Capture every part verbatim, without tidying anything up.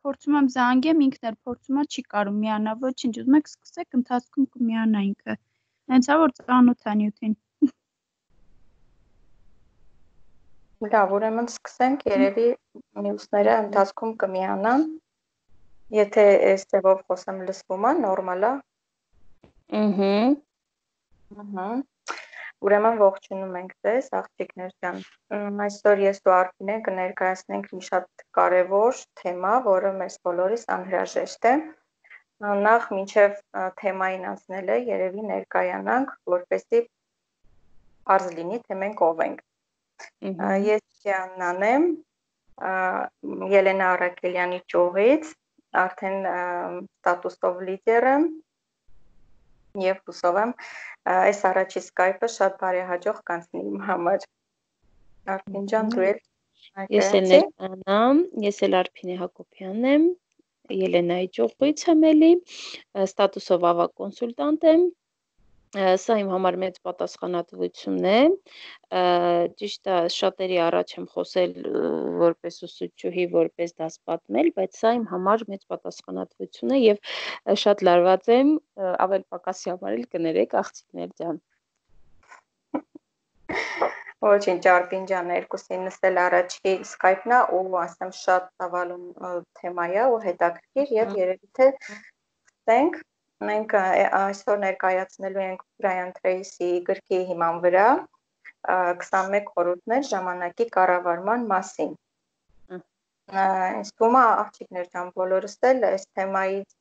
փորձում եմ զանգեմ, ինքն էլ փորձում է, չի կարում միանա, ոչինչ, ուզում եք սկսեք, ընթացքում կմիանա ինքը։ Հենց է որ ծանոթ է նյութին։ Լավ, ուրեմն սկսենք, երևի մյուսները ընթացքում կմիանան։ Եթե այս ձևով խոսեմ լսվում է, նորմալ է։ Ըհը։ Ահա։ Ուրեմն ողջունում ենք ձեզ, աղջիկներ ջան։ Այսօր ես ու Արփինեն կներկայացնենք մի շատ կարևոր թեմա, որը մեզ բոլորիս անհրաժեշտ է։ Նախ մինչև թեմային անցնելը երևի ներկայանանք, որպեսզի պարզ լինի, թե մենք ով ենք։ Ես Ջիաննան եմ, Ելենա Արաքելյանի ճյուղից, արդեն ստատուսով լիդեր եմ եւ հուսով եմ այս առաջի սկայպը շատ բարեհաջող կանցնի իմ համար։ Արփին ջան, դու էլ Ես էլ ներկանամ, ես էլ Արփինե Հակոբյանն եմ, Ելենայի ճյուղից եմ էլի, ստատուսով ավագ կոնսուլտանտ եմ։ Սա իմ համար մեծ պատասխանատվություն է, ճիշտ է, շատերի առաջ եմ խոսել որպես ուսուցչուհի, որպես դաս պատմել, բայց սա իմ համար մեծ պատասխանատվություն է եւ շատ լարված եմ, ավել պակասի համար էլ կներեք աղջիկներ ջան։ Ոչինչ, Արփին ջան, երկուսինս էլ առաջի սկայպն է ու ասեմ շատ ծավալուն թեմա է ու հետաքրքիր եւ երևի թե ստենք մենք այսօր ներկայացնելու ենք Բրայան Թրեյսի գրքի հիման վրա քսանմեկ խորհուրդներ ժամանակի կառավարման մասին։ Ինձ թվում է աղջիկներ ջան, բոլորս էլ այս թեմայից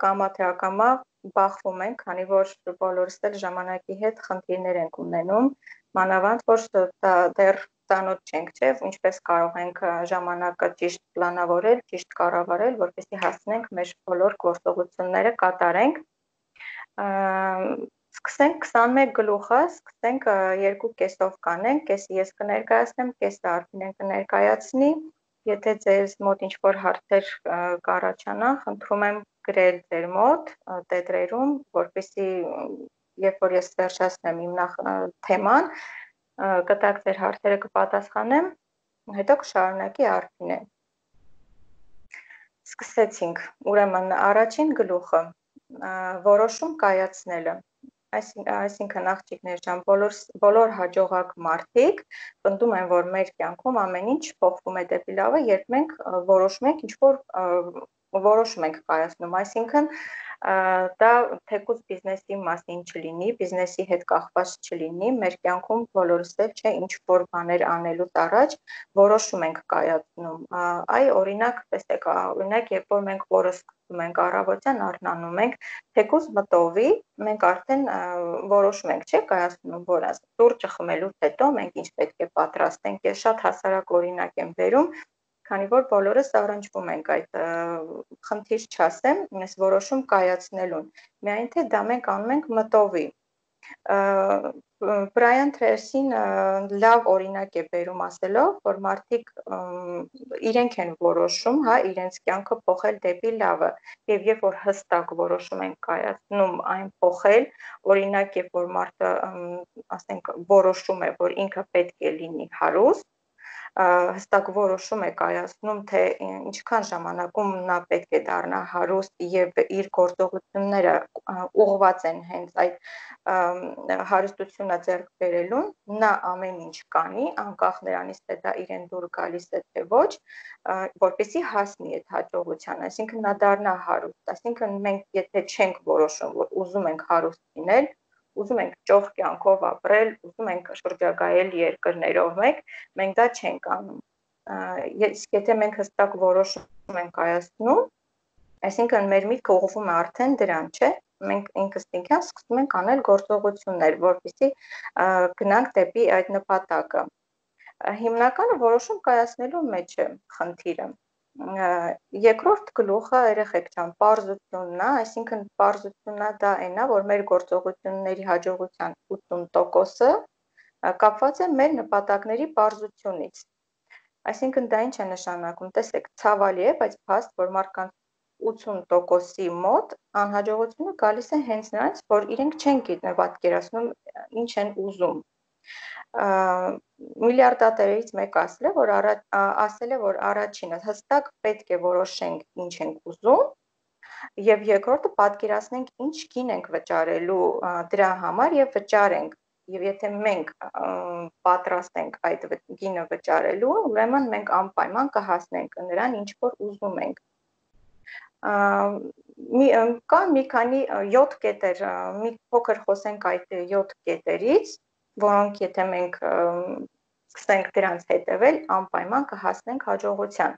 կամա թե ակամա բախվում ենք, քանի որ բոլորս էլ ժամանակի հետ խնդիրներ ենք ունենում, մանավանդ որ դեռ ծանոթ չենք, չէ՞, ինչպես կարող ենք ժամանակը ճիշտ պլանավորել, ճիշտ կառավարել, որպեսզի հասնենք մեր բոլոր գործողությունները կատարենք։ Սկսենք քսանմեկ գլուխը, սկսենք երկու կեսով կանենք, կեսը ես կներկայացնեմ, կեսը Արփինեն կներկայացնի։ Եթե ձեզ մոտ ինչ-որ հարցեր կառաջանան, խնդրում եմ գրել ձեր մոտ տետրերում, որպեսզի երբ որ ես վերջացնեմ իմ նախ թեման, կտակ ձեր հարցերը կպատասխանեմ, հետո կշարունակի Արփինեն։ Սկսեցինք, ուրեմն առաջին գլուխը, որոշում կայացնելը, այսինքն աղջիկներ ջան, բոլոր հաջողակ մարդիկ պնդում են, որ մեր կյանքում ամեն ինչ փոխվում է դեպի լավը, երբ մենք որոշում ենք ինչ-որ որոշում ենք կայացնում, այսինքն դա թեկուզ բիզնեսի մասին չլինի, բիզնեսի հետ կախված չլինի, մեր կյանքում բոլորս էլ չէ ինչ-որ բաներ անելուց առաջ որոշում ենք կայացնում։ Այ օրինակ, տեսեք, օրինակ, երբ որ մենք որը սկսում ենք առավոտյան արթնանում ենք, թեկուզ մտովի, մենք արդեն որոշում ենք, չէ՞, կայացնում, որ սուրճը խմելուց հետո մենք ինչ պետք է պատրաստենք։ Ես շատ հասարակ օրինակ եմ բերում, քանի որ բոլորս առնչվում ենք այդ խնդիր չասեմ, այս որոշում կայացնելուն, միայն թե դա մենք անում ենք մտովի։ Բրայան Թրեյսին լավ օրինակ է բերում ասելով, որ մարդիկ իրենք են որոշում, հա, իրենց կյանքը փոխել դեպի լավը, եւ երբ որ հստակ որոշում են կայացնում այն փոխել, օրինակ երբ որ մարդը, ասենք, որոշում է, որ ինքը պետք է լինի հարուստ, հստակ որոշում է կայացնում, թե ինչքան ժամանակում նա պետք է դառնա հարուստ եւ իր գործողությունները ուղղված են հենց այդ հարստությունը ձեռք բերելուն, նա ամեն ինչ կանի, անկախ նրանից թե դա իրեն դուր գալիս է թե ոչ, որպեսզի հասնի այդ հաջողության, այսինքն նա դառնա հարուստ, այսինքն մենք եթե չենք որոշում, որ ուզում ենք հարուստ լինել, ուզում ենք ճոխ կյանքով ապրել, ուզում ենք շրջագայել երկրներով մեկ, մենք դա չենք անում։ Եթե մենք հստակ որոշում ենք կայացնում, այսինքն մեր միտքը ուղղվում է արդեն դրան, չէ՞, մենք ինքնըստինքյան սկսում ենք անել գործողություններ, որպեսզի գնանք դեպի այդ նպատակը։ Հիմնականը որոշում կայացնելու մեջ է խնդիրը։ Երկրորդ գլուխը երեխեք ջան, պարզությունն է, այսինքն պարզությունն դա այն է, որ մեր գործողությունների հաջողության ութուն տոկոսը կապված է մեր նպատակների պարզությունից։ Այսինքն դա ինչ է նշանակում, տեսեք, ցավալի է, բայց փաստ, որ մարդկանց ութուն տոկոսի մոտ անհաջողությունը գալիս է հենց նրանց, որ իրենք չեն պատկերացնում ինչ են ուզում։ Միլիարդատերերից մեկը ասել է, որ արա, ասել է, որ առաջինը հստակ պետք է որոշենք ինչ ենք ուզում, եւ երկրորդը պատկերացնենք ինչ գին ենք վճարելու դրա համար եւ վճարենք, եւ եթե մենք պատրաստ ենք այդ գինը վճարելու, ուրեմն մենք անպայման կհասնենք նրան, ինչ որ ուզում ենք։ Կա մի քանի յոթ կետեր, մի փոքր խոսենք այդ յոթ կետերից, որոնք եթե մենք սկսենք դրանց հետևել, անպայման կհասնենք հաջողության։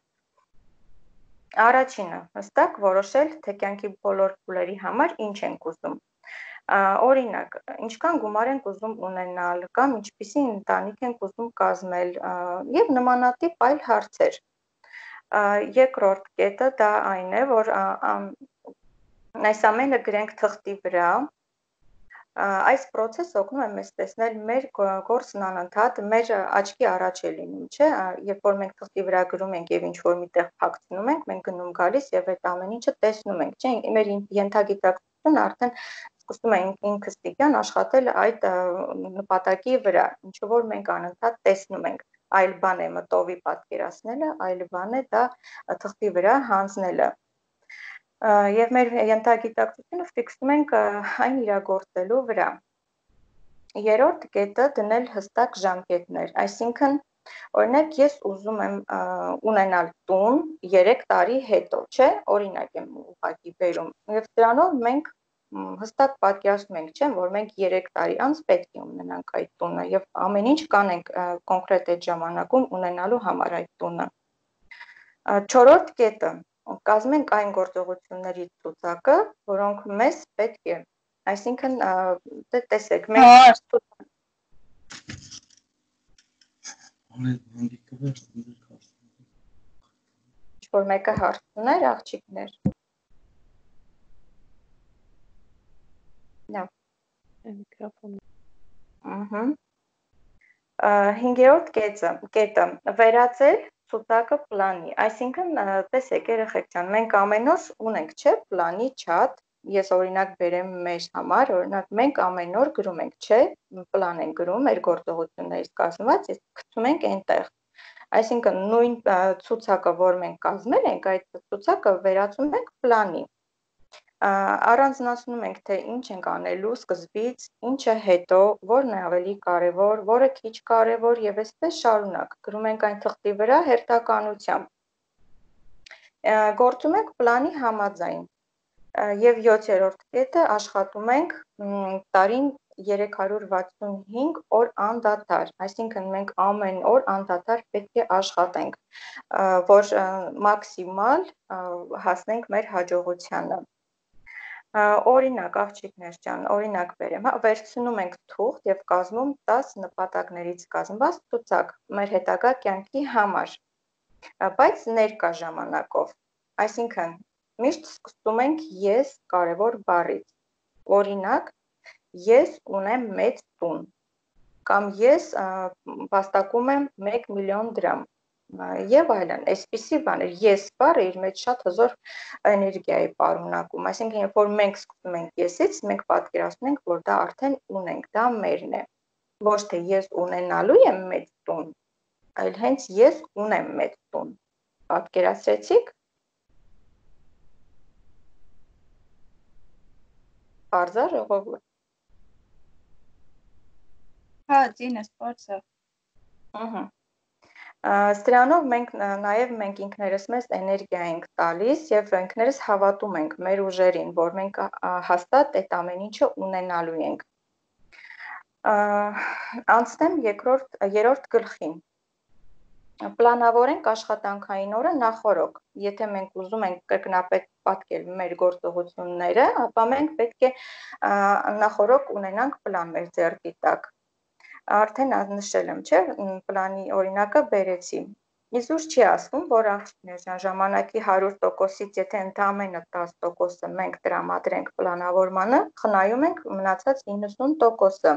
Առաջինը, հստակ որոշել, թե կյանքի բոլոր փուլերի համար ինչ ենք ուզում։ Օրինակ, ինչքան գումար ենք ուզում ունենալ, կամ ինչպիսի ընտանիք ենք ուզում կազմել, եւ նմանատիպ այլ հարցեր։ Երկրորդ կետը դա այն է, որ այս ամենը գրենք թղթի վրա։ Այս process-ը օգնում է մեզ տեսնել մեր գործն անընդհատ, մեր աչքի առաջ է լինում, չէ՞, երբ որ մենք թղթի վրա գրում ենք եւ ինչ որ միտեղ փակցնում ենք, մենք գնում գալիս եւ այդ ամեն ինչը տեսնում ենք, չէ՞, մեր ենթագիտակցությունը արդեն սկսում է ինքստիկյան աշխատել այդ նպատակի վրա, ինչ որ մենք անընդհատ տեսնում ենք, այլ բան է մտովի պատկերացնելը, այլ բան է դա թղթի վրա հանձնելը։ Եվ մեր ենթագիտակցությունը ֆիքսում ենք այն իրագործելու վրա։ Երրորդ կետը դնել հստակ ժամկետներ, այսինքն օրինակ ես ուզում եմ ունենալ տուն երեք տարի հետո, չէ, օրինակ եմ ուղղակի բերում, եւ դրանով մենք հստակ պատկերացնում ենք, չէ, որ մենք երեք տարի անց պետք է ունենանք այդ տունը եւ ամեն ինչ կանենք կոնկրետ այդ ժամանակում ունենալու համար այդ տունը։ Չորրորդ կետը կազմենք այն գործողությունների ցուցակը, որոնք մեզ պետք է, այսինքն դե տեսեք, մենք ինչ-որ մեկը հարց ուներ, աղջիկներ։ Լավ։ Միկրոֆոնը։ Ահա։ Հինգերորդ կետը, կետը վերածել ցուցակը պլանի, այսինքն տեսեք երեխեք ջան, մենք ամեն օր ունենք, չէ, պլանի չաթ, ես օրինակ բերեմ մեր համար, օրինակ մենք ամեն օր գրում ենք, չէ, պլան ենք գրում, մեր գործողություններից կազմված, իսկ գցում ենք այնտեղ։ Այսինքն նույն ցուցակը, որ մենք կազմել ենք, այդ ցուցակը վերածում ենք պլանի։ Առանձնացնում ենք, թե ինչ ենք անելու սկզբից, ինչը հետո, որն է ավելի կարևոր, որը քիչ կարևոր եւ այսպես շարունակ։ Գրում ենք այն թղթի վրա հերթականությամբ։ Գործում ենք պլանի համաձայն։ Եվ յոթերորդ կետը աշխատում ենք տարին երեք հարյուր վաթսունհինգ օր անդադար, այսինքն մենք ամեն օր անդադար պետք է աշխատենք, որ մաքսիմալ հասնենք մեր հաջողությանը։ Օրինակ, աղջիկներ ջան, օրինակ բերեմ, հա, վերցնում ենք թուղթ եւ կազմում տաս նպատակներից կազմված ցուցակ մեր հետագա կյանքի համար, բայց ներկա ժամանակով, այսինքն միշտ սկսում ենք ես կարևոր բառից, օրինակ, ես ունեմ մեծ տուն, կամ ես վաստակում եմ մեկ միլիոն դրամ, եւ այլն, այսպիսի բաներ, ես բառը իր մեջ շատ հզոր էներգիա է պարունակում, այսինքն երբ որ մենք սկսում ենք եսից, մենք պատկերացնում ենք, որ դա արդեն ունենք, դա մերն է, ոչ թե ես ունենալու եմ մեծ տուն, այլ հենց ես ունեմ մեծ տուն, պատկերացրեցիք։ Պարզ է ժողովուրդ։ Հա, ծինը սպորտը։ Ահա։ Սրանով մենք նաև մենք ինքներս մեզ էներգիա ենք տալիս եւ ինքներս հավատում ենք մեր ուժերին, որ մենք հաստատ այդ ամեն ինչը ունենալու ենք։ Անցնեմ երկրորդ երրորդ գլխին։ Պլանավորենք աշխատանքային օրը նախորոք։ Եթե մենք ուզում ենք կրկնապետ պատկել մեր գործողությունները, ապա մենք պետք է նախորոք ունենանք պլան մեր ձեռքի տակ։ Արդեն նշել եմ, չէ, պլանի օրինակը բերեցի։ Իզուր չի ասվում, որ աղջիկներ ժամանակի հարյուր տոկոսից եթե ընդամենը տասը տոկոսը մենք տրամադրենք պլանավորմանը, խնայում ենք մնացած իննսուն տոկոսը։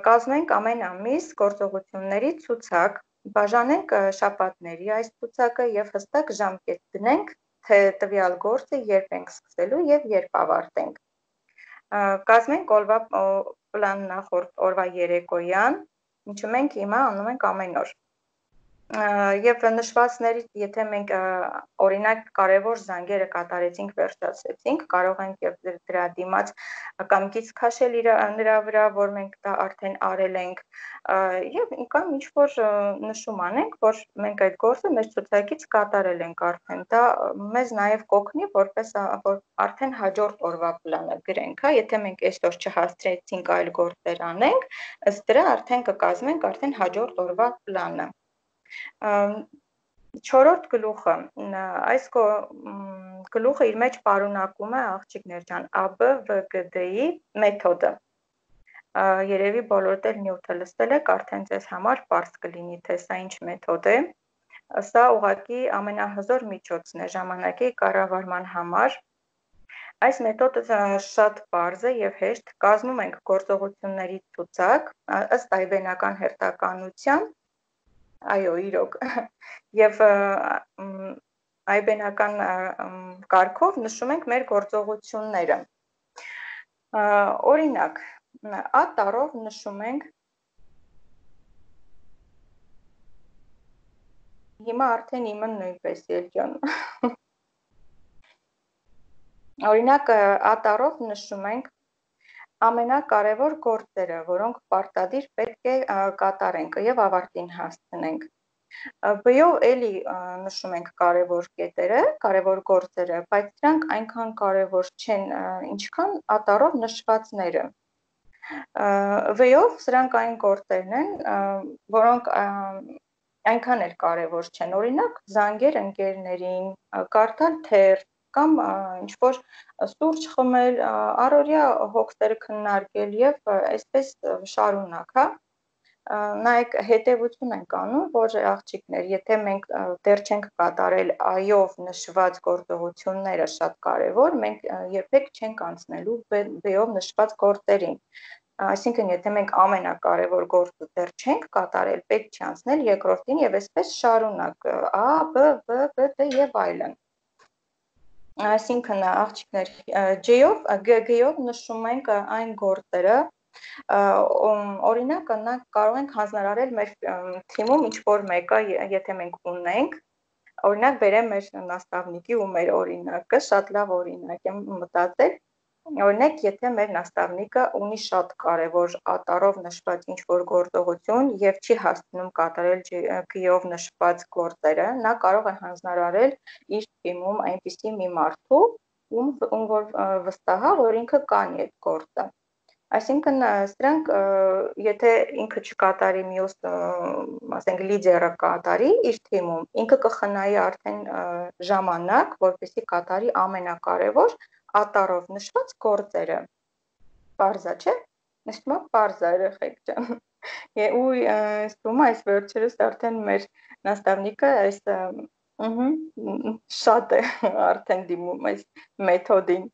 Կազմենք ամեն ամիս գործողությունների ցուցակ, բաժանենք շաբաթների այս ցուցակը եւ հստակ ժամկետ դնենք, թե տվյալ գործը երբ ենք սկսելու եւ երբ ավարտենք։ Կազմենք օրվա պլան նախորդ օրվա երեկոյան, ինչը մենք հիմա անում ենք ամեն օր։ Եվ նշվածներից, եթե մենք օրինակ կարևոր զանգերը կատարեցինք, վերջացրեցինք, կարող ենք եւ դրա դիմաց կամ գիծ քաշել նրա վրա, որ մենք դա արդեն արել ենք, եւ կամ ինչ որ նշում անենք, որ մենք այդ գործը մեր ցուցակից կատարել ենք արդեն։ Դա մեզ նաեւ կօգնի, որպես որ արդեն հաջորդ օրվա պլանը գրենք, հա, եթե մենք այսօր չհասցրեցինք այլ գործեր անենք, ըստ դրա արդեն կկազմենք արդեն հաջորդ օրվա պլանը։ Չորրորդ գլուխը, այս գլուխը իր մեջ պարունակում է աղջիկներ ջան A B V G D-ի մեթոդը։ Երևի բոլորդ էլ նյութը լսել եք, արդեն ձեզ համար պարզ կլինի, թե սա ինչ մեթոդ է։ Սա ուղղակի ամենահզոր միջոցն է ժամանակի կառավարման համար։ Այս մեթոդը շատ պարզ է եւ հեշտ, կազմում ենք գործողությունների ցուցակ ըստ այբենական հերթականության, այո, իրոք, եւ այբենական կարգով նշում ենք մեր գործողությունները։ Օրինակ, A տառով նշում ենք, հիմա արդեն իմը նույնպես ելջան։ Օրինակ, A տառով նշում ենք ամենակարևոր գործերը, որոնք պարտադիր պետք է կատարենք եւ ավարտին հասցնենք։ B-ով էլի նշում ենք կարևոր կետերը, կարևոր գործերը, բայց դրանք այնքան կարևոր չեն, ինչքան A տառով նշվածները։ V-ով սրանք այն գործերն են, որոնք այնքան էլ կարևոր չեն, օրինակ զանգեր ընկերներին, կարդալ թերթ կամ ինչ-որ սուրճ խմել, առօրյա հոգսերը քննարկել եւ այսպես շարունակ, հա։ Նայեք, հետևություն ենք անում, որ աղջիկներ, եթե մենք դեռ չենք կատարել A-ով նշված գործողությունները շատ կարևոր, մենք երբեք չենք անցնելու B-ով նշված գործերին։ Այսինքն, եթե մենք ամենակարևոր գործը դեռ չենք կատարել, պետք չի անցնել երկրորդին եւ այսպես շարունակ A, B, V, G, D եւ այլն։ Այսինքն, աղջիկներ, J-ով, G-ով նշում ենք այն գործերը, օրինակ, կարող ենք հանձնարարել մեր թիմում ինչ-որ մեկը, եթե մենք ունենք, օրինակ բերեմ մեր նաստավնիկի ու մեր օրինակը, շատ լավ օրինակ եմ մտածել, օրինակ, եթե մեր նաստավնիկը ունի շատ կարևոր A տառով նշված ինչ-որ գործողություն եւ չի հասցնում կատարել G-ով նշված գործերը, նա կարող է հանձնարարել իր թիմում այնպիսի մի մարդու, ում որ վստահ է, որ ինքը կանի այդ գործը։ Այսինքն, սրանք, եթե ինքը չկատարի մյուս, ասենք, լիդերը կատարի իր թիմում, ինքը կխնայի արդեն ժամանակ, որպեսզի կատարի ամենակարևոր A տառով նշված գործերը։ Պարզա, չէ՞։ Նշվում է պարզա, երեխեք ջան։ Ու ասում եմ, այս վերջերս արդեն մեր նաստավնիկը այս շատ է արդեն դիմում այս մեթոդին։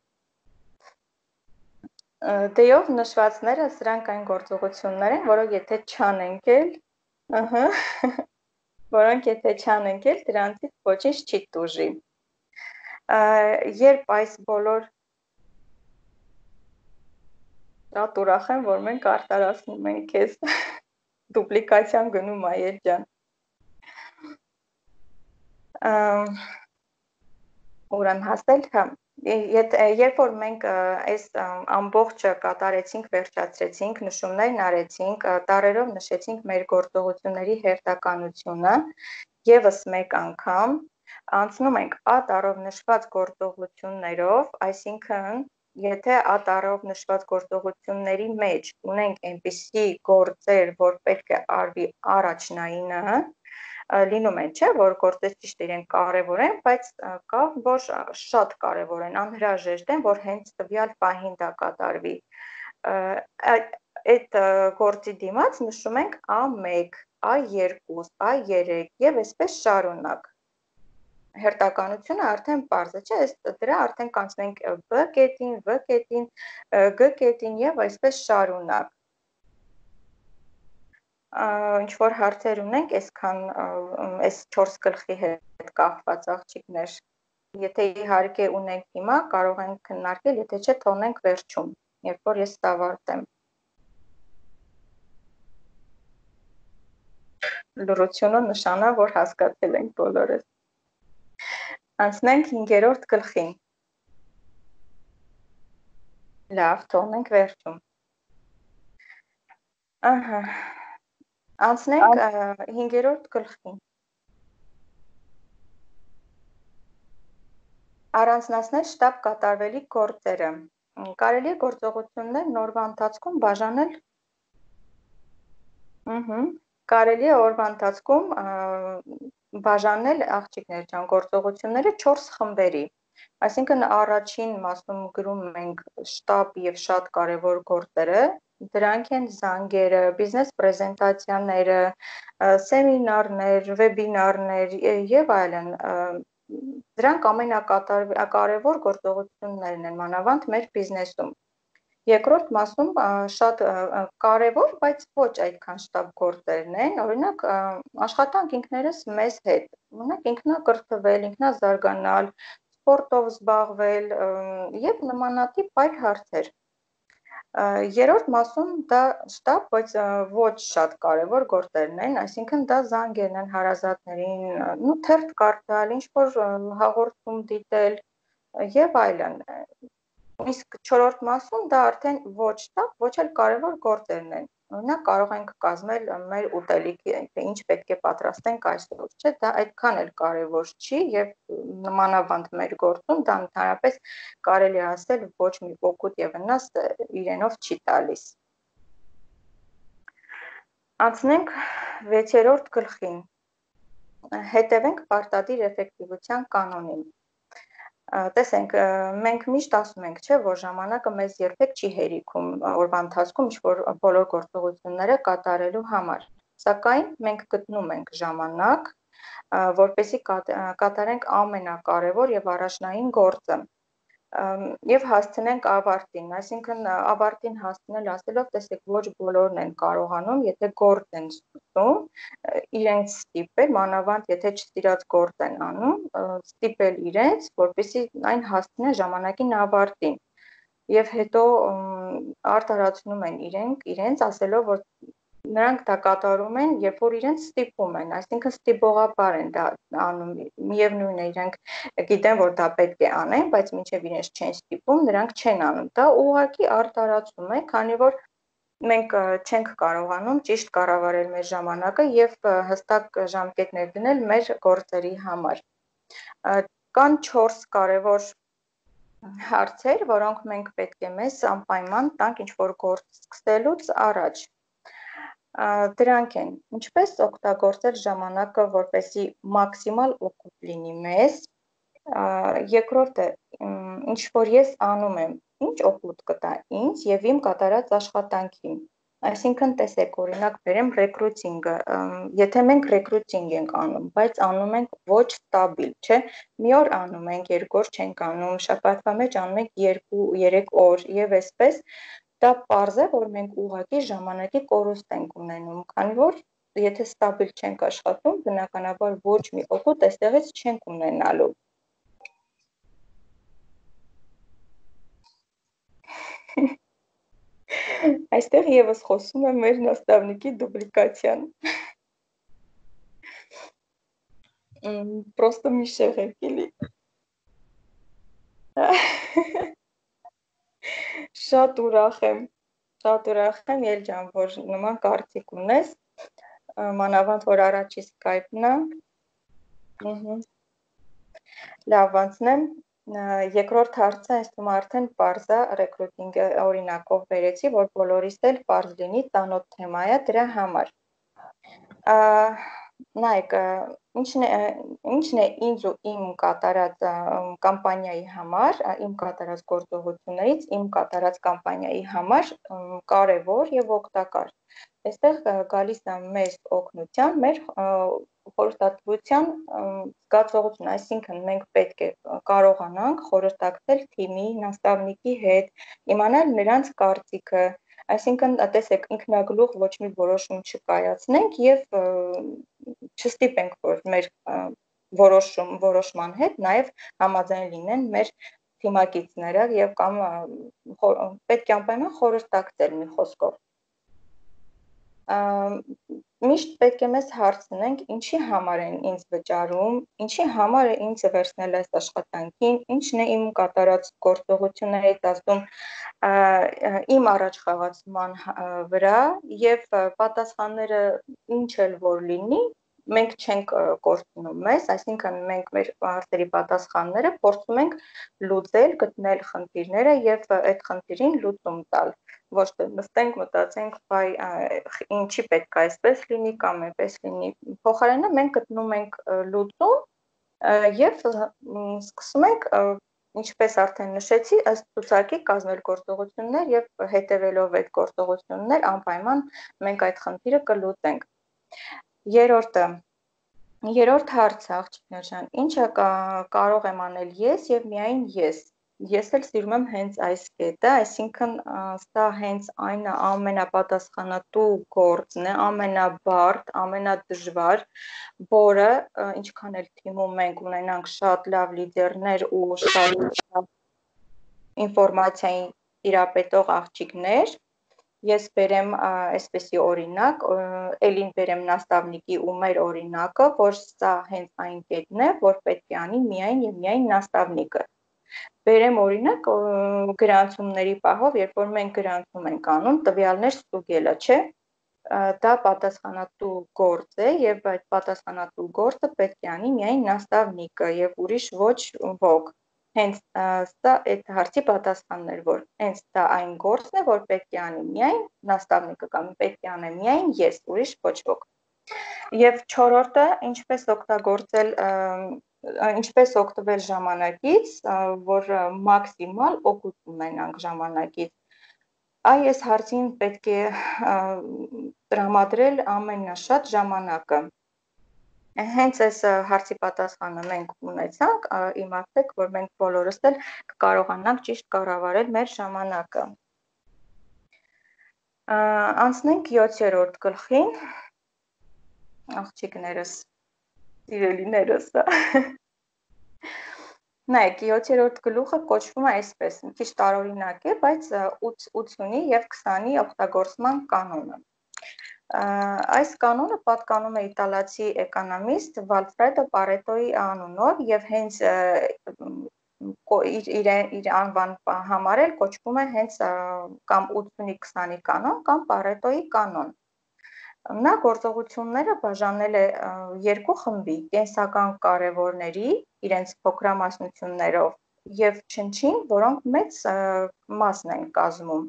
D-ով նշվածները սրանք այն գործողություններ են, որոնք եթե չանենք էլ, ըհը, որոնք եթե չանենք էլ, դրանցից ոչինչ չի տուժի։ Երբ այս բոլոր շատ ուրախ եմ, որ մենք արտարացնում ենք քեզ դուպլիկացիան գնում է երջան։ Ուր եմ հասել, հա, երբ որ մենք այս ամբողջը կատարեցինք, վերջացրեցինք, նշումներն արեցինք, տառերով նշեցինք մեր գործողությունների հերթականությունը, եւս մեկ անգամ անցնում ենք A տառով նշված գործողություններով, այսինքն եթե A տառով նշված գործողությունների մեջ ունենք այնպիսի գործեր, որ պետք է արվի առաջնայինը, լինում են, չէ, որ գործեր ճիշտ իրենք կարևոր են, բայց կա, որ շատ կարևոր են, անհրաժեշտ են, որ հենց տվյալ պահին դա կատարվի։ Այդ գործի դիմաց նշում ենք A մեկ, A երկու, A երեք եւ այսպես շարունակ։ Հերթականությունը արդեն պարզ է, չէ՞, ըստ դրա արդեն կանցնենք B կետին, V կետին, G կետին եւ այսպես շարունակ։ Ինչ որ հարցեր ունենք, այսքան այս չորս գլխի հետ կապված աղջիկներ, եթե իհարկե ունենք հիմա, կարող ենք քննարկել, եթե չէ, թողնենք վերջում, երբ որ ես ավարտեմ։ լրությունը նշանա, որ հասկացել ենք բոլորս։ Անցնենք հինգերորդ գլխին։ Լավ, թողնենք վերջում։ Ահա։ Անցնենք հինգերորդ գլխին։ Առանձնացնել շտապ կատարվելիք գործերը։ Կարելի է գործողություններն օրվա ընթացքում բաժանել Ահա, կարելի է օրվա ընթացքում բաժանել աղջիկներ ջան գործողությունները չորս խմբերի։ Այսինքն առաջին մասում գրում ենք շտապ եւ շատ կարեւոր գործերը, դրանք են զանգերը, բիզնես պրեզենտացիաները, սեմինարներ, վեբինարներ եւ այլն։ Դրանք ամենակարևոր գործողություններն են մանավանդ մեր բիզնեսում։ Երկրորդ մասում շատ կարևոր, բայց ոչ այդքան շտապ գործերն են, օրինակ աշխատանք ինքներս մեզ հետ, օրինակ ինքնակրթվել, ինքնազարգանալ, սպորտով զբաղվել եւ նմանատիպ այլ հարցեր։ Երրորդ մասում դա շտապ, բայց ոչ շատ կարևոր գործերն են, այսինքն դա զանգերն են հարազատներին, նու թերթ կարդալ, ինչ-որ հաղորդում դիտել եւ այլն։ Իսկ չորրորդ մասում դա արդեն ոչ շտապ, ոչ էլ կարևոր գործերն են։ Օրինակ կարող ենք կազմել մեր ուտելիքի, թե ինչ պետք է պատրաստենք այսօր, չէ՞, դա այդքան էլ կարևոր չի եւ մանավանդ մեր գործում դա ընդհանրապես կարելի է ասել ոչ մի օգուտ եւ վնաս իրենով չի տալիս։ Անցնենք վեցերորդ գլխին։ Հետևենք պարտադիր էֆեկտիվության կանոնին։ Տեսենք, մենք միշտ ասում ենք, չէ, որ ժամանակը մեզ երբեք չի հերիքում օրվա ընթացքում ինչ-որ բոլոր գործողությունները կատարելու համար։ Սակայն մենք գտնում ենք ժամանակ, որպեսզի կատարենք ամենակարևոր եւ առաջնային գործը եւ հասցնենք ավարտին, այսինքն ավարտին հասցնել ասելով, տեսեք, ոչ բոլորն են կարողանում, եթե գործ են սկսում, իրենց ստիպել, մանավանդ եթե չսիրած գործ են անում, ստիպել իրենց, որպեսզի այն հասցնեն ժամանակին ավարտին։ Եվ հետո արտարացնում են իրենք, իրենց ասելով, որ նրանք դա կատարում են, երբ որ իրենց ստիպում են, այսինքն ստիպողաբար են դա անում, միևնույն է, իրենք գիտեն, որ դա պետք է անեն, բայց մինչև իրենց չեն ստիպում, նրանք չեն անում։ Դա ուղղակի արտարացում է, քանի որ մենք չենք կարողանում ճիշտ կառավարել մեր ժամանակը եւ հստակ ժամկետներ դնել մեր գործերի համար։ Կան չորս կարևոր հարցեր, որոնք մենք պետք է մեզ անպայման տանք ինչ-որ գործ սկսելուց առաջ։ Դրանք են, ինչպես օգտագործել ժամանակը, որպեսզի մաքսիմալ օգուտ լինի մեզ։ Երկրորդը, ինչ որ ես անում եմ, ինչ օգուտ կտա ինձ եւ իմ կատարած աշխատանքին։ Այսինքն, տեսեք, օրինակ բերեմ ռեկրուտինգը, եթե մենք ռեկրուտինգ ենք անում, բայց անում ենք ոչ ստաբիլ, չէ, մի օր անում ենք, երկու օր չենք անում, շաբաթվա մեջ անում ենք երկու երեք օր եւ այսպես, դա պարզ է, որ մենք ուղղակի ժամանակի կորուստ ենք ունենում, քանի որ եթե ստաբիլ չենք աշխատում, բնականաբար ոչ մի օգուտ այստեղից չենք ունենալու։ Այստեղ եւս խոսում է մեր նաստավնիկի դուպլիկացիան։ Просто մի շեղեք էլի։ Շատ ուրախ եմ, շատ ուրախ եմ, Ելջան, որ նման կարծիք ունես, մանավանդ որ առաջի Skype-ն է։ Լավ, անցնեմ, երկրորդ հարցը այս թվում արդեն պարզ է, ռեկրուտինգ օրինակով բերեցի, որ բոլորիս էլ պարզ լինի, ծանոթ թեմա է դրա համար։ Նայեք, ինչն է, ինչն է ինձ ու իմ կատարած կամպանիայի համար, իմ կատարած գործողություններից, իմ կատարած կամպանիայի համար կարևոր եւ օգտակար։ Այստեղ գալիս է մեզ օգնության, մեր խորհրդատվության զգացողություն, այսինքն մենք պետք է կարողանանք խորհրդակցել թիմի, նաստավնիկի հետ, իմանալ նրանց կարծիքը, այսինքն տեսեք ինքնագլուխ ոչ մի որոշում չկայացնենք եւ չստիպենք, որ մեր որոշում որոշման հետ նաեւ համաձայն լինեն մեր թիմակիցները եւ կամ պետք է անպայման խորհրդակցել մի խոսքով։ Միշտ պետք է մեզ հարցնենք, ինչի համար են ինձ վճարում, ինչի համար է ինձ վերցնել այս աշխատանքին, ինչն է իմ կատարած գործողություններից ասում իմ առաջխաղացման վրա եւ պատասխանները ինչ էլ որ լինի, մենք չենք կորցնում մեզ, այսինքն մենք մեր հարցերի պատասխանները փորձում ենք լուծել, գտնել խնդիրները եւ այդ խնդիրին լուծում տալ։ Ոչ թե նստենք, մտածենք, բայ ինչի պետք է այսպես լինի կամ այնպես լինի։ Փոխարենը մենք գտնում ենք լուծում եւ սկսում ենք, ինչպես արդեն նշեցի, ըստ ցուցակի կազմել գործողություններ եւ հետեւելով այդ գործողություններ անպայման մենք այդ խնդիրը կլուծենք։ Երրորդը Երրորդ հարցը, աղջիկներ ջան, ինչը կարող եմ անել ես եւ միայն ես։ Ես էլ սիրում եմ հենց այս կետը, այսինքն սա հենց այն ամենապատասխանատու գործն է, ամենաբարդ, ամենադժվար, որը ինչքան էլ թիմում մենք ունենանք շատ լավ լիդերներ ու շատ ինֆորմացիային տիրապետող աղջիկներ, ես բերեմ այսպեսի օրինակ, ելին բերեմ նաստավնիկի ու մեր օրինակը, որ սա հենց այն կետն է, որ պետք է անի միայն եւ միայն նաստավնիկը։ Բերեմ օրինակ գրանցումների պահով, երբ որ մենք գրանցում ենք անում, տվյալներ ստուգելը, չէ՞։ Դա պատասխանատու գործ է եւ այդ պատասխանատու գործը պետք է անի միայն նաստավնիկը եւ ուրիշ ոչ ոք։ Հենց սա այդ հարցի պատասխանն էր, որ հենց դա այն գործն է, որ պետք է անի միայն նաստավնիկը կամ պետք է անեմ միայն ես, ուրիշ ոչ ոք։ Եվ չորրորդը, ինչպես օգտագործել, ինչպես օգտվել ժամանակից, որ մաքսիմալ օգուտ ունենանք ժամանակից։ Այս հարցին պետք է տրամադրել ամենաշատ ժամանակը։ Հենց այս հարցի պատասխանը մենք ունեցանք, իմացեք, որ մենք բոլորս էլ կարողանանք ճիշտ կառավարել մեր ժամանակը։ Անցնենք յոթերորդ գլխին, աղջիկներս, սիրելիներս։ Նայեք, յոթերորդ գլուխը կոչվում է այսպես, մի քիչ տարօրինակ է, բայց ութունի եւ քսանի օգտագործման կանոնը։ Այս կանոնը պատկանում է իտալացի էկոնոմիստ Վալֆրեդո Պարետոյի անունով եւ հենց իր իր անվան համար էլ կոչվում է հենց կամ ութունի քսանի կանոն կամ Պարետոյի կանոն։ Նա գործողությունները բաժանել է երկու խմբի՝ կենսական կարևորների, իրենց փոքրամասնություններով եւ չնչին, որոնք մեծ մասն են կազմում։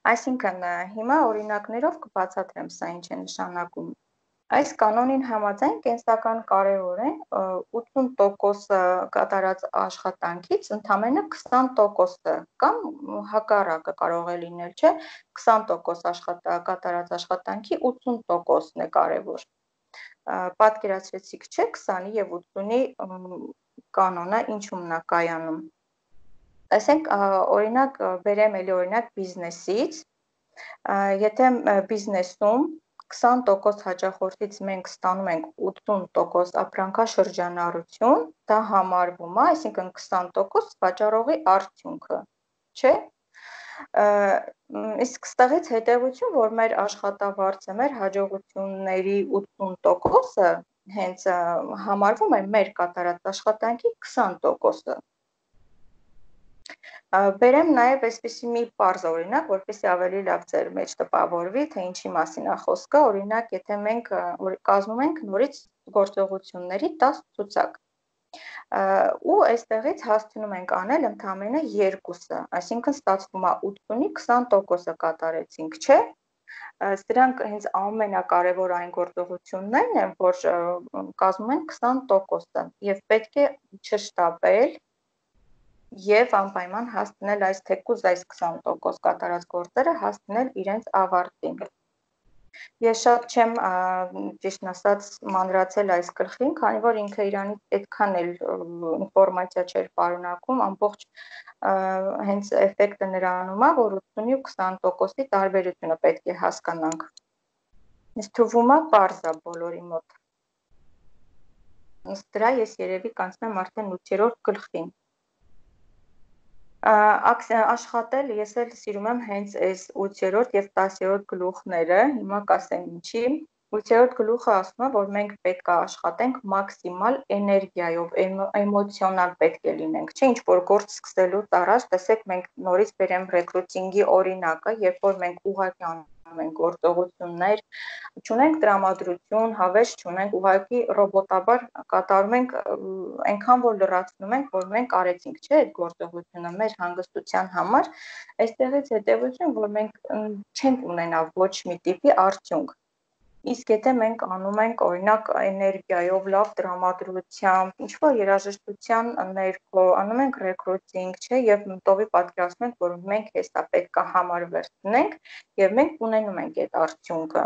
Այսինքն հիմա օրինակներով կբացատրեմ սա ինչ է նշանակում։ Այս կանոնին համաձայն կենսական կարևոր է ութուն տոկոսը կատարած աշխատանքից ընդամենը քսան տոկոսը կամ հակառակը կարող է լինել, չէ՞, քսան տոկոս կատարած աշխատանքի ութուն տոկոսն է կարևոր։ Պատկերացրեցիք, չէ՞, քսանի եւ ութունի կանոնը ինչու՞մն է կայանում։ Ասենք օրինակ բերեմ էլի օրինակ բիզնեսից, եթե բիզնեսում քսան տոկոս հաճախորդից մենք ստանում ենք ութուն տոկոս ապրանքաշրջանառություն, դա համարվում է, այսինքն քսան տոկոս վաճառողի արդյունքը, չէ՞։ Իսկ ստեղից հետևություն, որ մեր աշխատավարձը, մեր հաջողությունների ութուն տոկոսը հենց համարվում է մեր կատարած աշխատանքի քսան տոկոսը։ Բերեմ նաև այսպեսի մի պարզ օրինակ, որպեսզի ավելի լավ ձեր մեջ տպավորվի, թե ինչի մասին է խոսքը, օրինակ, եթե մենք կազմում ենք նորից գործողությունների տասը ցուցակ, ու այստեղից հասցնում ենք անել ընդամենը երկուսը, այսինքն ստացվում է ութունի քսան տոկոսը կատարեցինք, չէ՞։ Սրանք հենց ամենակարևոր այն գործողություններն են, որ կազմում են քսան տոկոսը եւ պետք է չշտապել եւ անպայման հասցնել այս թեկուզ այս քսան տոկոս կատարած գործերը հասցնել իրենց ավարտին։ Ես շատ չեմ ճիշտն ասած մանրացել այս գլխին, քանի որ ինքը իրանից այդքան էլ ինֆորմացիա չէր պարունակում, ամբողջ հենց էֆեկտը նրանում է, որ ութունի ու քսան տոկոսի տարբերությունը պետք է հասկանանք։ Ինձ թվում է պարզ է բոլորի մոտ։ Ըստ դրա ես երևի կանցնեմ արդեն ութերորդ գլխին։ Աշխատել ես էլ սիրում եմ հենց այս ութերորդ եւ տասերորդ գլուխները, հիմա կասեմ ինչի։ ութերորդ գլուխը ասում է, որ մենք պետք է աշխատենք մաքսիմալ էներգիայով, էմոցիոնալ պետք է լինենք, չէ՞, ինչ որ գործ սկսելուց առաջ, տեսեք, մենք նորից բերեմ ռեկրուտինգի օրինակը, երբ որ մենք ուղղակի անում ենք գործողություններ, չունենք տրամադրություն, հավես չունենք, ուղղակի ռոբոտաբար կատարում ենք, այնքան որ լրացնում ենք, որ մենք արեցինք, չէ՞, այդ գործողությունը մեր հանգստության համար, այստեղից հետևություն, որ մենք չենք ունենա ոչ մի տիպի արդյունք։ Իսկ եթե մենք անում ենք, օրինակ, էներգիայով, լավ տրամադրությամբ, ինչ-որ երաժշտության ներքո, անում ենք ռեկրուտինգ, չէ, եւ տովի պատկերացնում ենք, որ մենք հեսա պետք է համար վերցնենք եւ մենք ունենում ենք այդ արդյունքը։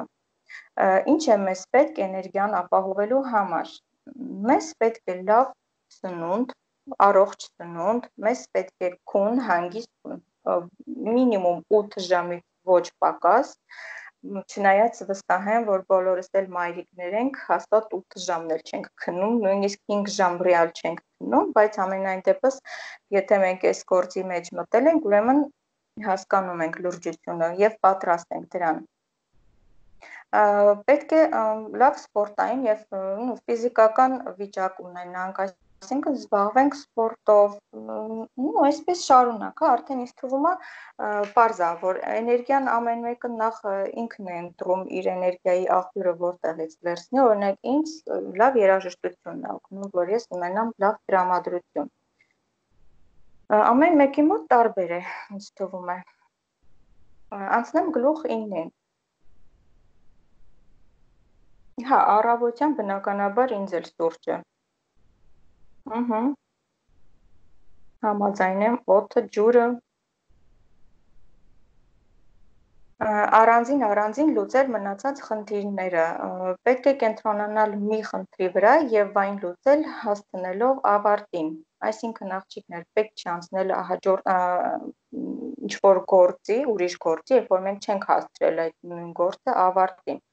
Ինչ է մեզ պետք էներգիան ապահովելու համար։ Մեզ պետք է լավ սնունդ, առողջ սնունդ, մեզ պետք է քուն, հանգիստ մինիմում ութ ժամից ոչ պակաս, չնայած վստահ եմ, որ բոլորս էլ մայրիկներ ենք, հաստատ ութ ժամն էլ չենք քնում, նույնիսկ հինգ ժամ ռեալ չենք քնում, բայց ամենայն դեպս, եթե մենք այս գործի մեջ մտել ենք, ուրեմն հասկանում ենք լրջությունը եւ պատրաստ ենք դրան։ Պետք է լավ սպորտային եւ ֆիզիկական վիճակ ունենանք, այսինքն զբաղվենք սպորտով, ու այսպես շարունակ, արդեն ինձ թվում է պարզ է, որ էներգիան ամեն մեկը նախ ինքն է ընտրում իր էներգիայի աղբյուրը որտեղից վերցնի, օրինակ ինձ լավ երաժշտությունն է օգնում, որ ես ունենամ լավ տրամադրություն։ Ամեն մեկի մոտ տարբեր է, ինձ թվում է։ Անցնեմ գլուխ իննին։ Հա, առավոտյան բնականաբար ինձ էլ սուրճ է։ Ահա։ Համաձայն եմ, օդը, ջուրը։ Առանձին առանձին լուծել մնացած խնդիրները։ Պետք է կենտրոնանալ մի խնդրի վրա եւ այն լուծել հասցնելով ավարտին։ Այսինքն աղջիկներ պետք չի անցնել հաջորդ ինչ որ գործի, ուրիշ գործի, երբ որ մենք չենք հասցրել այդ նույն գործը ավարտին։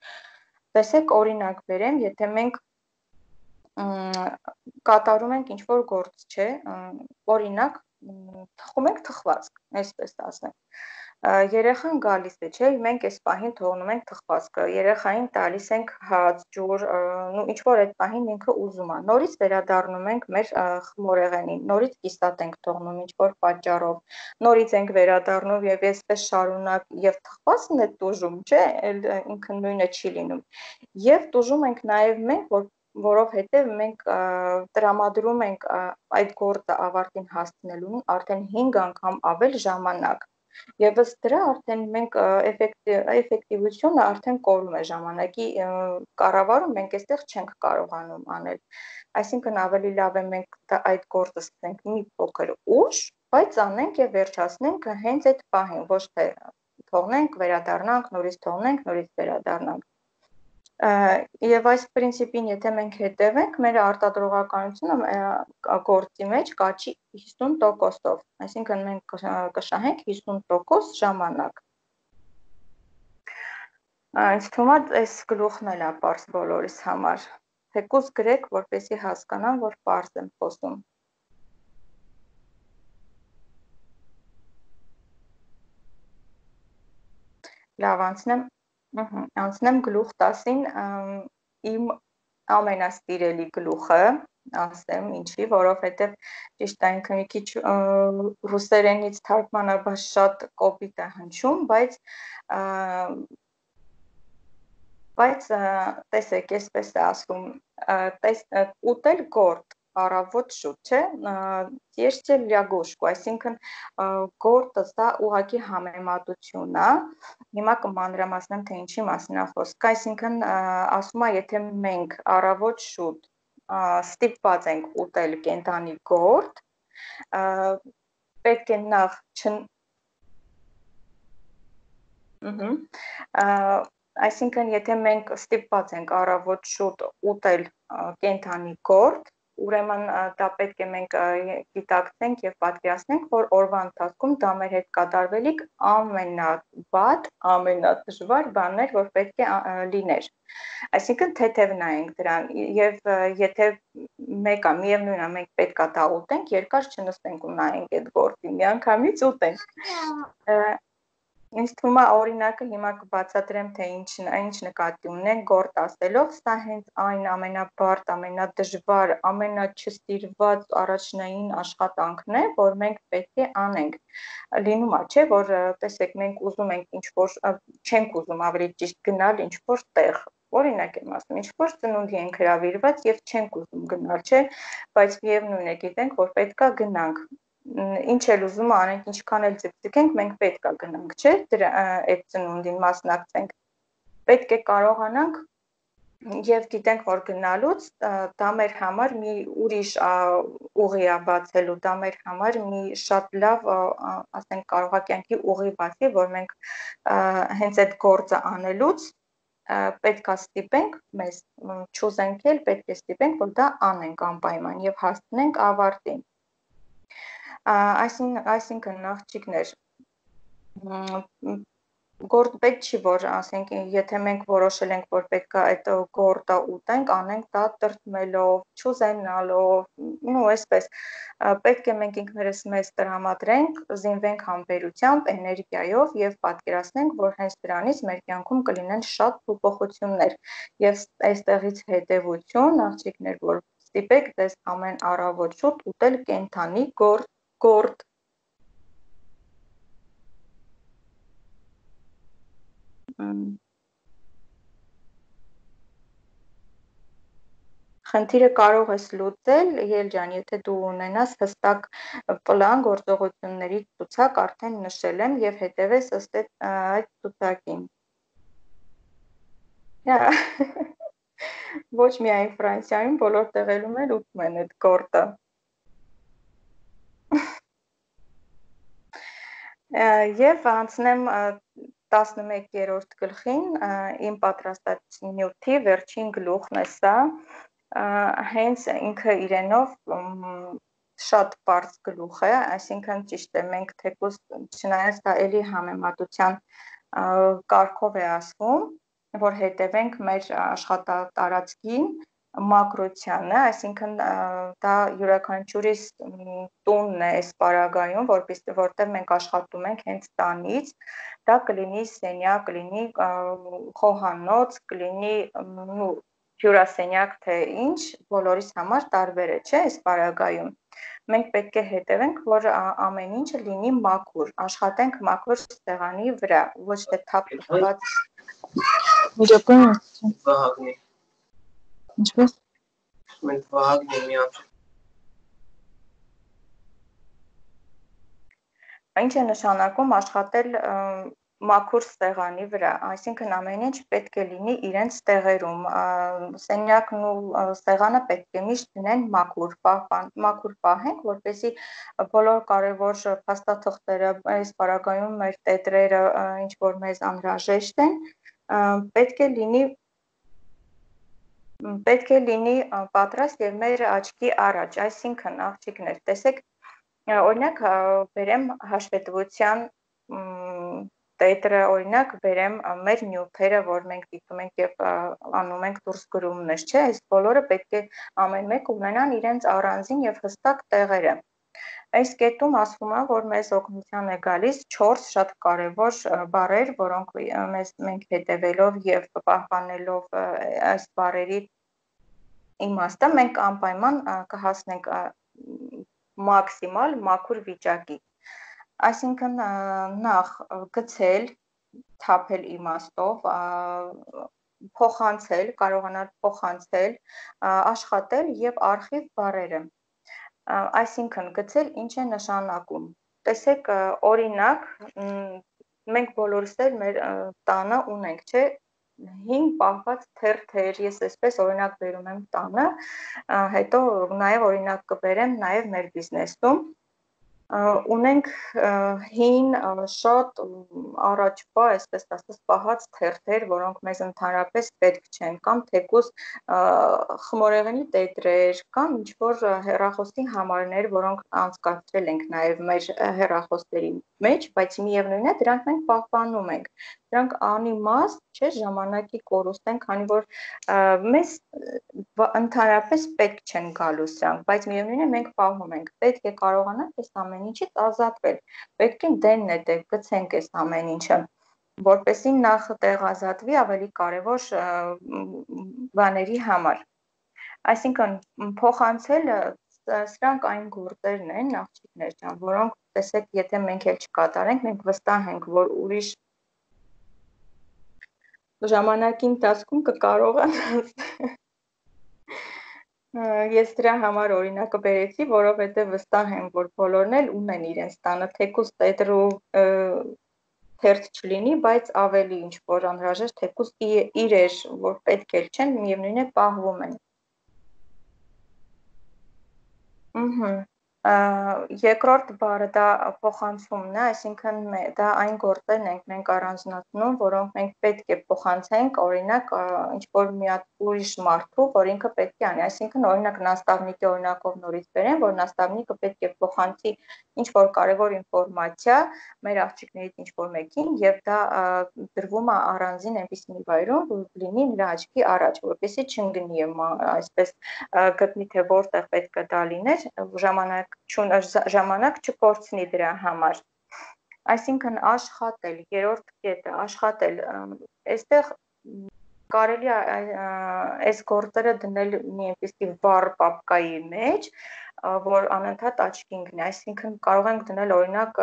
Տեսեք, օրինակ բերեմ, եթե մենք կատարում ենք ինչ որ գործ, չէ, օրինակ թխում ենք թխվածք, այսպես ասեմ։ Երեխան գալիս է, չէ, մենք այս պահին թողնում ենք թխվածքը, երեխային տալիս ենք հաց, ջուր, ինչ որ այդ պահին ինքը ուզում է։ Նորից վերադառնում ենք մեր խմորեղենին, նորից կիսատ ենք թողնում ինչ որ պատճառով, նորից ենք վերադառնում եւ այսպես շարունակ եւ թխվածքն է տուժում, չէ, ինքը նույնը չի լինում։ Եվ տուժում ենք նաեւ մենք, որ որովհետև մենք տրամադրում ենք այդ գործը ավարտին հասցնելուն արդեն հինգ անգամ ավել ժամանակ եւ ըստ դրա արդեն մենք էֆեկտիվությունը արդեն կորում է ժամանակի կառավարում մենք այստեղ չենք կարողանում անել, այսինքն ավելի լավ է մենք այդ գործը սկսենք մի փոքր ուշ, բայց անենք եւ վերջացնենք հենց այդ պահին, ոչ թե թողնենք, վերադառնանք, նորից թողնենք, նորից վերադառնանք։ Եվ այս պրինցիպին, եթե մենք հետևենք, մեր արտադրողականությունը գործի մեջ կաճի հիսուն տոկոսով, այսինքն մենք կշահենք հիսուն տոկոս ժամանակ։ Ինձ թվում է այս գլուխն էլ է պարզ բոլորիս համար, թեկուզ գրեք, որպեսզի հասկանան, որ պարզ եմ խոսում։ Լավ, անցնեմ Անցնեմ գլուխ տասին, իմ ամենասիրելի գլուխը, ասեմ ինչի, որովհետև ճիշտ է ինքը մի քիչ ռուսերենից թարգմանաբար շատ կոպիտ է հնչում, բայց բայց տեսեք, այսպես է ասում, ուտել գործ, առավոտ շուտ, չէ, есть լյագոշկու, այսինքն գործը սա ուղղակի համեմատություն է, հիմա կմանրամասնեմ, թե ինչի մասին է խոսքը, այսինքն ասում է, եթե մենք առավոտ շուտ ստիպված ենք ուտել կենդանի գործ, պետք է նախ Այսինքն, եթե մենք ստիպված ենք առավոտ շուտ ուտել կենդանի գործ, ուրեմն դա պետք է մենք գիտակցենք եւ պատկերացնենք, որ օրվա ընթացքում դա մեր հետ կատարվելիք ամենավատ, ամենադժվար բանն էր, որ պետք է լիներ։ Այսինքն թեթև նայենք դրան եւ եթե մեկը միևնույնն է մենք պետքա դա ուտենք, երկար չնստենք ու նայենք այդ գործին, միանգամից ուտենք։ Ինձ թվում է օրինակը հիմա կբացատրեմ, թե ինչ ինչ նկատի ունենք գործ ասելով, սա հենց այն ամենաբարդ, ամենադժվար, ամենաչստիրված առաջնային աշխատանքն է, որ մենք պետք է անենք։ Լինում է, չէ, որ տեսեք, մենք ուզում ենք ինչ-որ, չենք ուզում ավելի ճիշտ գնալ ինչ-որ տեղ։ Օրինակ եմ ասում, ինչ-որ ծնունդի ենք հրավիրված եւ չենք ուզում գնալ, չէ, բայց միևնույն է գիտենք, որ պետքա գնանք։ Ինչ էլ ուզում անենք, ինչքան էլ ձգձգենք, մենք պետք է գնանք, չէ, դրա այդ ծնունդին մասնակցենք։ Պետք է կարողանանք եւ գիտենք, որ գնալուց դա մեր համար մի ուրիշ ուղի է բացելու, դա մեր համար մի շատ լավ, ասենք, կարող է կյանքի ուղի բացի, որ մենք հենց այդ գործը անելուց պետք է ստիպենք մեզ, չուզենք էլ պետք է ստիպենք, որ դա անենք անպայման եւ հասցնենք ավարտին։ Այսինքն աղջիկներ, գործ պետք չի, որ ասենք, եթե մենք որոշել ենք, որ պետք է այդ գործը ուտենք, անենք դա տրտմելով, չուզենալով, ու այսպես, պետք է մենք ինքներս մեզ տրամադրենք, զինվենք համբերությամբ, էներգիայով եւ պատկերացնենք, որ հենց դրանից մեր կյանքում կլինեն շատ փոփոխություններ եւ այստեղից հետեւություն, աղջիկներ, որ ստիպեք դες ամեն առավոտ շուտ ուտել կենթանի գործ գործ Խնդիրը կարող ես լուծել, Ել ջան, եթե դու ունենաս հստակ պլան գործողությունների ցուցակ, արդեն նշել եմ եւ հետեւես ըստ այդ ցուցակին։ Ոչ միայն Ֆրանսիայում, բոլոր տեղերում էլ ուտում են այդ գործը։ Եվ անցնեմ տասնմեկերորդ գլխին, իմ պատրաստած նյութի վերջին գլուխն է սա, հենց ինքը իրենով շատ պարզ գլուխ է, այսինքն ճիշտ է, մենք թեկուզ չնայած դա էլի համեմատության կարգով է ասվում, որ հետևենք մեր աշխատատարածքին, մակրությանը, այսինքն դա յուրաքանչյուրիս տունն է այս պարագայում, որտեղ մենք աշխատում ենք հենց տանից, դա կլինի սենյակ, կլինի խոհանոց, կլինի հյուրասենյակ, թե ինչ, բոլորիս համար տարբեր է, չէ, այս պարագայում։ Մենք պետք է հետևենք, որ ամեն ինչը լինի մաքուր, աշխատենք մաքուր սեղանի վրա, ոչ թե թափ տված։ Ինչպես մենք վահագն եմ միակ։ Ինչ է նշանակում աշխատել մաքուր սեղանի վրա, այսինքն ամեն ինչ պետք է լինի իրենց տեղերում, սենյակն ու սեղանը պետք է միշտ լինեն մաքուր, մաքուր պահենք, որպեսզի բոլոր կարևոր փաստաթղթերը, այս պարագայում մեր տետրերը, ինչ որ մեզ անհրաժեշտ են, պետք է լինի պետք է լինի պատրաստ եւ մեր աչքի առաջ, այսինքն աղջիկներ, տեսեք, օրինակ բերեմ հաշվետվության տետրը, օրինակ բերեմ մեր նյութերը, որ մենք դիտում ենք եւ անում ենք դուրս գրումներ, չէ, այս բոլորը պետք է ամեն մեկը ունենան իրենց առանձին եւ հստակ տեղերը։ Այս կետում ասվում է, որ մեզ օգնության է գալիս չորս շատ կարևոր բառեր, որոնք մեզ մենք հետևելով եւ պահպանելով այս բառերի իմաստը, մենք անպայման կհասնենք մաքսիմալ մաքուր վիճակի։ Այսինքն նախ գցել, թափել իմաստով, փոխանցել, կարողանալ փոխանցել, աշխատել եւ արխիվ բառերը։ Այսինքն գցել ինչ է նշանակում։ Տեսեք, օրինակ, մենք բոլորս էլ մեր տանը ունենք, չէ, հին պահված թերթեր, ես այսպես օրինակ բերում եմ տանը, հետո նաեւ օրինակ կբերեմ նաեւ մեր բիզնեսում, Ունենք հին շատ առաջվա, այսպես ասած, պահած թերթեր, որոնք մեզ ընդհանրապես պետք չեն, կամ թեկուզ խմորեղենի տետրեր, կամ ինչ-որ հեռախոսի համարներ, որոնք անցկացրել ենք նաև մեր հեռախոսների մեջ, բայց միևնույն է, դրանք մենք պահպանում ենք։ Դրանք անիմաստ չէ, ժամանակի կորուստ են, քանի որ մեզ ընդհանրապես պետք չեն գալու սրանք, բայց միևնույն է, մենք պահում ենք։ Պետք է կարողանանք այս ամեն ինչից ազատվել։ Պետք է դենն է դե գցենք այս ամեն ինչը, որպեսզի նախ տեղ ազատվի ավելի կարևոր բաների համար։ Այսինքն փոխանցելը սրանք այն գործերն են, աղջիկներ ջան, որոնք տեսեք, եթե մենք էլ չկատարենք, մենք վստահ ենք, որ ուրիշ ժամանակի ընթացքում կկարողանան։ Ես դրա համար օրինակը բերեցի, որովհետև վստահ եմ, որ բոլորն էլ ունեն իրենց տանը, թեկուզ տետրու թերթ չլինի, բայց ավելի ինչ որ անհրաժեշտ, թեկուզ իրեր, որ պետք էլ չեն, միևնույն է պահվում են։ Ահա Երկրորդ բառը դա փոխանցումն է, այսինքն դա այն գործերն ենք մենք առանձնացնում, որոնք մենք պետք է փոխանցենք, օրինակ ինչ-որ մի հատ ուրիշ մարդու, որ ինքը պետք է անի, այսինքն օրինակ նաստավնիկի օրինակով նորից բերեմ, որ նաստավնիկը պետք է փոխանցի ինչ-որ կարևոր ինֆորմացիա մեր աղջիկներից ինչ-որ մեկին, եւ դա դրվում է առանձին այնպիսի մի վայրում, որ լինի նրա աչքի առաջ, որպեսզի չընկնի այսպես գտնի թե որտեղ պետք է դա լիներ, ժամանակ ժամանակ չկորցնի դրա համար։ Այսինքն աշխատել, երրորդ կետը, աշխատել, այստեղ կարելի է այս գործերը դնել մի այնպիսի վառ պապկայի մեջ, որ անընդհատ աչքի ընկնի, այսինքն կարող ենք դնել օրինակ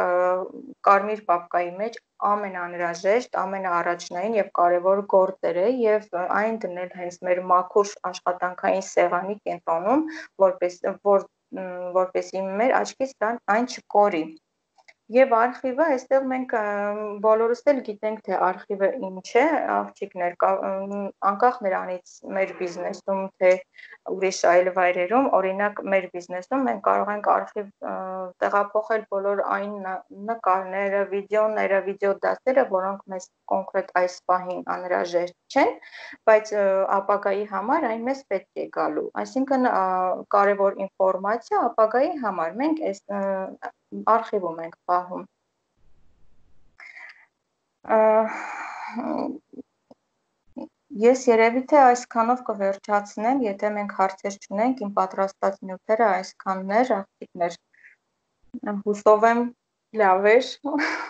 կարմիր պապկայի մեջ ամենաանհրաժեշտ, ամենաառաջնային եւ կարեւոր գործերը եւ այն դնել հենց մեր մաքուր աշխատանքային սեղանի կենտրոնում, որպես որ որպեսզի մեր աչքից այն չկորի։ Եվ արխիվը, այստեղ մենք բոլորս էլ գիտենք, թե արխիվը ինչ է, աղջիկներ, անկախ նրանից մեր բիզնեսում, թե ուրիշ այլ վայրերում, օրինակ մեր բիզնեսում մենք կարող ենք արխիվ տեղափոխել բոլոր այն նկարները, վիդեոները, վիդեոդասերը, որոնք մեզ կոնկրետ այս պահին անհրաժեշտ չեն, բայց ապագայի համար այն մեզ պետք է գալու։ Այսինքն կարևոր ինֆորմացիա ապագայի համար մենք այս արխիվում ենք պահում։ Ես երևի թե այսքանով կվերջացնեմ, եթե մենք հարցեր չունենք, իմ պատրաստած նյութերը այսքանն էր, աղջիկներ, հուսով եմ լավ էր,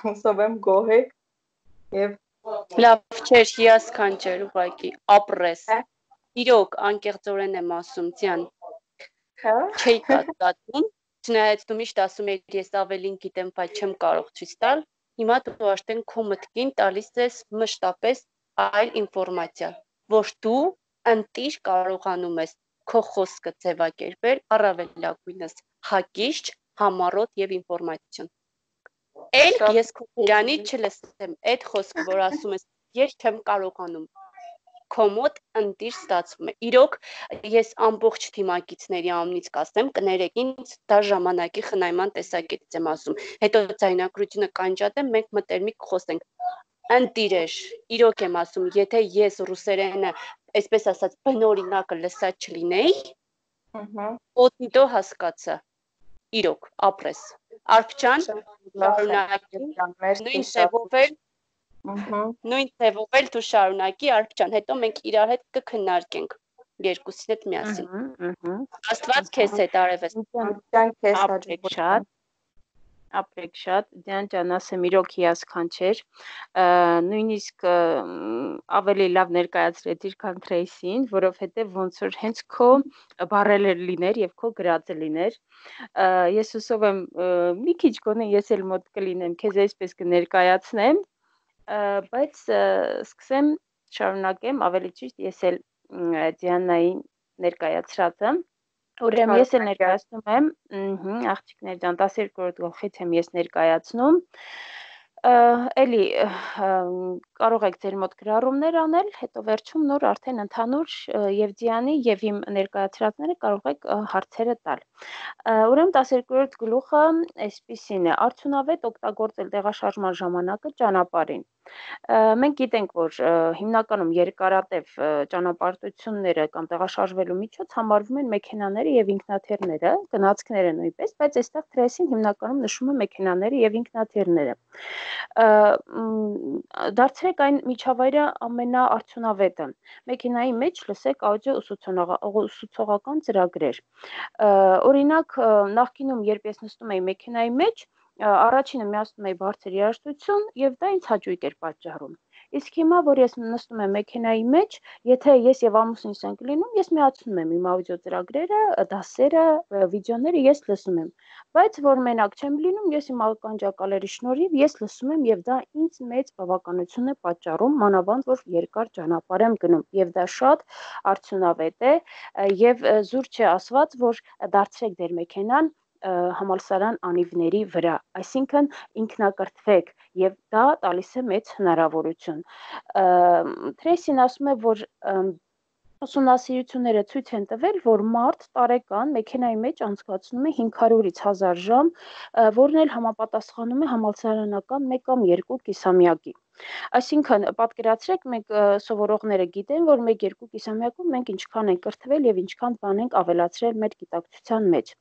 հուսով եմ գոհ եք եւ լավ չէր, հիասքանչեր ուղղակի, ապրես, իրոք անկեղծորեն եմ ասում, ձյան, չէի կատկատում, չնայած դու միշտ ասում ես ես ավելին գիտեմ, բայց չեմ կարող ցույց տալ, հիմա դու արդեն քո մտքին տալիս ես մշտապես այլ ինֆորմացիա, որ դու ընտիր կարողանում ես քո խոսքը ձևակերպել առավելագույնս հակիշտ, համառոտ եւ ինֆորմացիոն։ Էլ ես քո իրանի չլսեմ այդ խոսքը, որ ասում ես ես չեմ կարողանում։ Քո մոտ ընտիր ստացվում է։ Իրոք ես ամբողջ թիմակիցների անունից կասեմ, կներեք ինձ, դա ժամանակի խնայման տեսակետից եմ ասում։ Հետո ձայնագրությունը կանջատեմ, մենք մտերմիկ խոսենք։ Ընտիրեր, իրոք եմ ասում, եթե ես ռուսերենը, այսպես ասած, բնօրինակը լսած չլինեի, օտիտո հասկացա։ Իրոք, ապրես։ Արփջան, շարունակի, նույն ձևով էլ նույն ձևով էլ դու շարունակի, Արփջան, հետո մենք իրար հետ կքննարկենք երկուսին հետ միասին։ Աստված քեզ հետ արևես։ Ապրեք շատ, ապրեք շատ, Դիան ջան, ասեմ իրոք հիասքանչեր, նույնիսկ ավելի լավ ներկայացրեցիր, քան Թրեյսին, որովհետև ոնց որ հենց քո բառերը լիներ եւ քո գրածը լիներ։ Ես հուսով եմ մի քիչ գոնե ես էլ մոտ կլինեմ, քեզ այսպես կներկայացնեմ, բայց սկսեմ շարունակեմ, ավելի ճիշտ ես էլ Դիանային ներկայացրածը։ Ուրեմն ես էլ ներկայացնում եմ, աղջիկներ ջան, տասներկրորդ գլխից եմ ես ներկայացնում։ Էլի կարող եք ձեր մոտ գրառումներ անել, հետո վերջում նոր արդեն ընդհանուր եւ Դիանի եւ իմ ներկայացրածները կարող եք հարցերը տալ։ Ուրեմն տասներկուերորդ գլուխը այսպիսին է. արդյունավետ օգտագործել տեղաշարժման ժամանակը ճանապարհին։ Մենք գիտենք, որ հիմնականում երկարատև ճանապարհորդությունները կամ տեղաշարժվելու միջոց համարվում են մեքենաները եւ ինքնաթիռները, գնացքները նույնպես, բայց այստեղ թրեսին հիմնականում նշում է մեքենաները եւ ինքնաթիռները։ Դարձրեք այն միջավայրը ամենաարդյունավետը։ Մեքենայի մեջ լսեք աուդիո ուսուցողական ծրագրեր։ Օրինակ, նախկինում, երբ ես նստում էի մեքենայի մեջ, առաջինը միացնում էի բարձր երաժշտություն եւ դա ինձ հաճույք էր պատճառում։ Իսկ հիմա, որ ես նստում եմ մեքենայի մեջ, եթե ես եւ ամուսինս ենք լինում, ես միացնում եմ իմ աուդիո ծրագրերը, դասերը, վիդեոները ես լսում եմ։ Բայց որ մենակ չեմ լինում, ես իմ ականջակալերի շնորհիվ ես լսում եմ եւ դա ինձ մեծ բավականություն է պատճառում, մանավանդ որ երկար ճանապարհ եմ գնում եւ դա շատ արդյունավետ է եւ զուր չէ ասված, որ դարձրեք ձեր մեքենան համալսարան անիվների վրա, այսինքն ինքնակրթվեք եւ դա տալիս է մեծ հնարավորություն։ Թրեսին ասում է, որ ուսումնասիրությունները ցույց են տվել, որ մարդ տարեկան մեքենայի մեջ անցկացնում է հինգ հարյուրից հազար ժամ, որն էլ համապատասխանում է համալսարանական մեկ կամ երկու կիսամյակի։ Այսինքն, պատկերացրեք, մենք սովորողները գիտեն, որ մեկ-երկու կիսամյակում մենք ինչքան ենք կրթվել եւ ինչքան բան ենք ավելացրել մեր գիտակցության մեջ։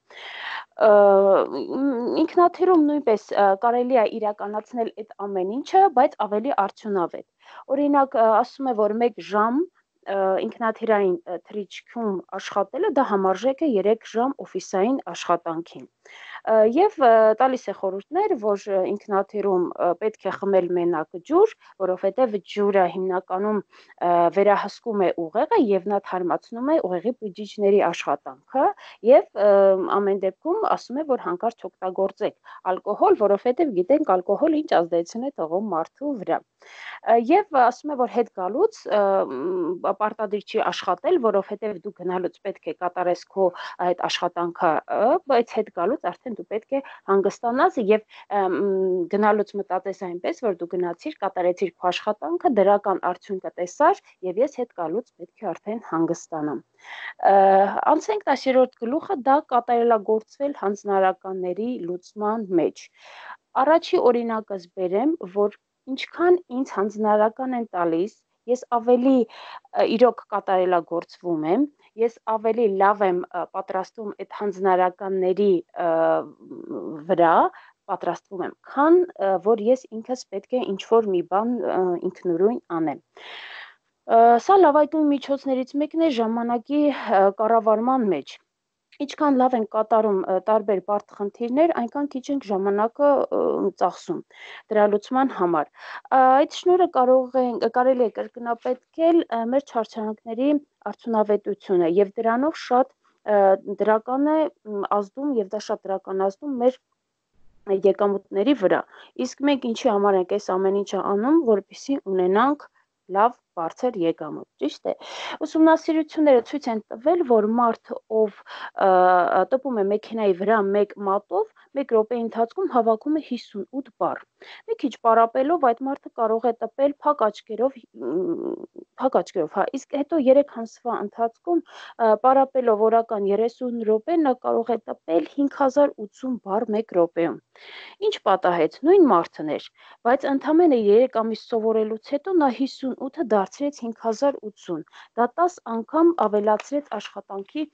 Ինքնաթիռում նույնպես կարելի է իրականացնել այդ ամեն ինչը, բայց ավելի արդյունավետ։ Օրինակ, ասում է, որ մեկ ժամ ինքնաթիռային թռիչքում աշխատելը դա համարժեք է երեք ժամ օֆիսային աշխատանքին։ Եվ տալիս է խորհուրդներ, որ ինքնաթիռում պետք է խմել մենակ ջուր, որովհետև ջուրը հիմնականում վերահսկում է ուղեղը եւ նա թարմացնում է ուղեղի բջիջների աշխատանքը եւ ամեն դեպքում ասում է, որ հանկարծ օգտագործեք ալկոհոլ, որովհետև գիտենք ալկոհոլը ինչ ազդեցություն է թողում մարդու վրա։ Եվ ասում է, որ հետ գալուց պարտադիր չի աշխատել, որովհետև դու գնալուց պետք է կատարես քո այդ աշխատանքը, բայց հետ գալուց արդեն դու պետք է հանգստանաս եւ գնալուց մտածես այնպես, որ դու գնացիր, կատարեցիր քո աշխատանքը, դրական արդյունքը տեսար եւ ես հետ գալուց պետք է արդեն հանգստանամ։ Անցենք տասներորդ գլուխը, դա կատարելագործվել հանձնարարականների լուծման մեջ։ Առաջի օրինակս բերեմ, որ ինչքան ինձ հանձնարարական են տալիս, ես ավելի իրոք կատարելագործվում եմ, ես ավելի լավ եմ պատրաստվում այդ հանձնարարականների վրա, պատրաստվում եմ, քան որ ես ինքս պետք է ինչ-որ մի բան ինքնուրույն անեմ։ Սա լավագույն միջոցներից մեկն է ժամանակի կառավարման մեջ։ Ինչքան լավ են կատարում տարբեր բարդ խնդիրներ, այնքան քիչ ենք ժամանակը ծախսում դրա լուծման համար։ Այդ շնորհը կարող է կարելի է կրկնապատկել մեր չարչարանքների արդյունավետությունը եւ դրանով շատ դրական է ազդում եւ դա շատ դրական ազդում մեր եկամուտների վրա։ Իսկ մենք ինչի համար ենք այս ամեն ինչը անում, որպեսզի ունենանք լավ բարձր եկամուտ, ճիշտ է։ Ուսումնասիրությունները ցույց են տվել, որ մարդ, ով տպում է մեքենայի վրա մեկ մատով, մեկ րոպեի ընթացքում հավաքում է հիսունութ բառ։ Մի քիչ պարապելով այդ մարդը կարող է տպել փակ աչքերով, փակ աչքերով, հա, իսկ հետո երեք ամսվա ընթացքում պարապելով օրական երեսուն րոպե նա կարող է տպել հինգ հազար ութսուն բառ մեկ րոպեում։ Ինչ պատահեց, նույն մարդն էր, բայց ընդամենը երեք ամիս սովորելուց հետո նա հիսունութը դարձրեց հինգ հազար ութսուն։ Դա տաս անգամ ավելացրեց աշխատանքի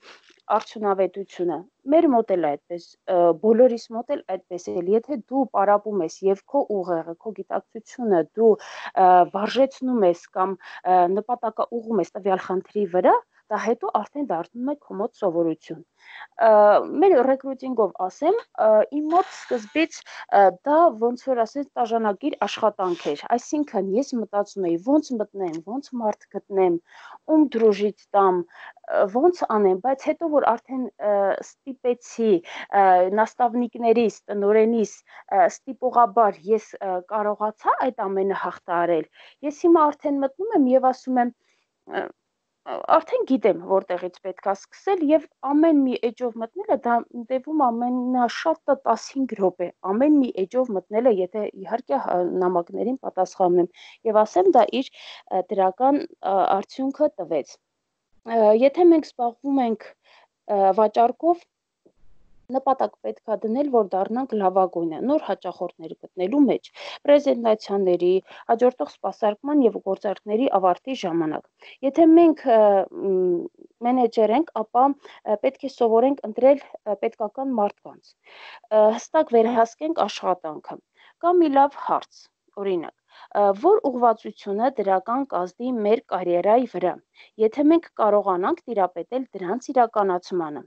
արդյունավետությունը։ Մեր մոտ էլ այդպես, բոլորիս մոտ էլ այդպես է, եթե դու պարապում ես եւ քո ուղեղը, քո գիտակցությունը դու վարժեցնում ես կամ նպատակաուղղում ես տվյալ խնդրի վրա, դա հետո արդեն դառնում է քո մոտ սովորություն։ Մեր ռեկրուտինգով ասեմ, իմ մոտ սկզբից դա ոնց որ ասես տաժանագիր աշխատանք էր, այսինքն ես մտածում էի ոնց մտնեմ, ոնց մարդ գտնեմ, ում դրուժից տամ, ոնց անեմ, բայց հետո որ արդեն ստիպեցի նաստավնիկներիս, տնօրենիս ստիպողաբար ես կարողացա այդ ամենը հաղթահարել, ես հիմա արդեն մտնում եմ եւ ասում եմ արդեն գիտեմ որտեղից պետք է սկսել եւ ամեն մի էջով մտնելը դա տևում ամենաշատը տասնհինգ րոպե, ամեն մի էջով մտնելը, եթե իհարկե նամակներին պատասխանում եմ եւ ասեմ դա իր դրական արդյունքը տվեց։ Եթե մենք զբաղվում ենք վաճառքով, նպատակ պետք է դնել, որ դառնանք լավագույնը, նոր հաճախորդներ գտնելու մեջ, պրեզենտացիաների, հաջորդող սպասարկման եւ գործարքների ավարտի ժամանակ։ Եթե մենք մենեջեր ենք, ապա պետք է սովորենք ընտրել պետքական մարդկանց, հստակ վերահսկենք աշխատանքը։ Կամ մի լավ հարց, օրինակ, որ ուղղվածությունը դրական կազդի մեր կարիերայի վրա, եթե մենք կարողանանք տիրապետել դրանց իրականացմանը։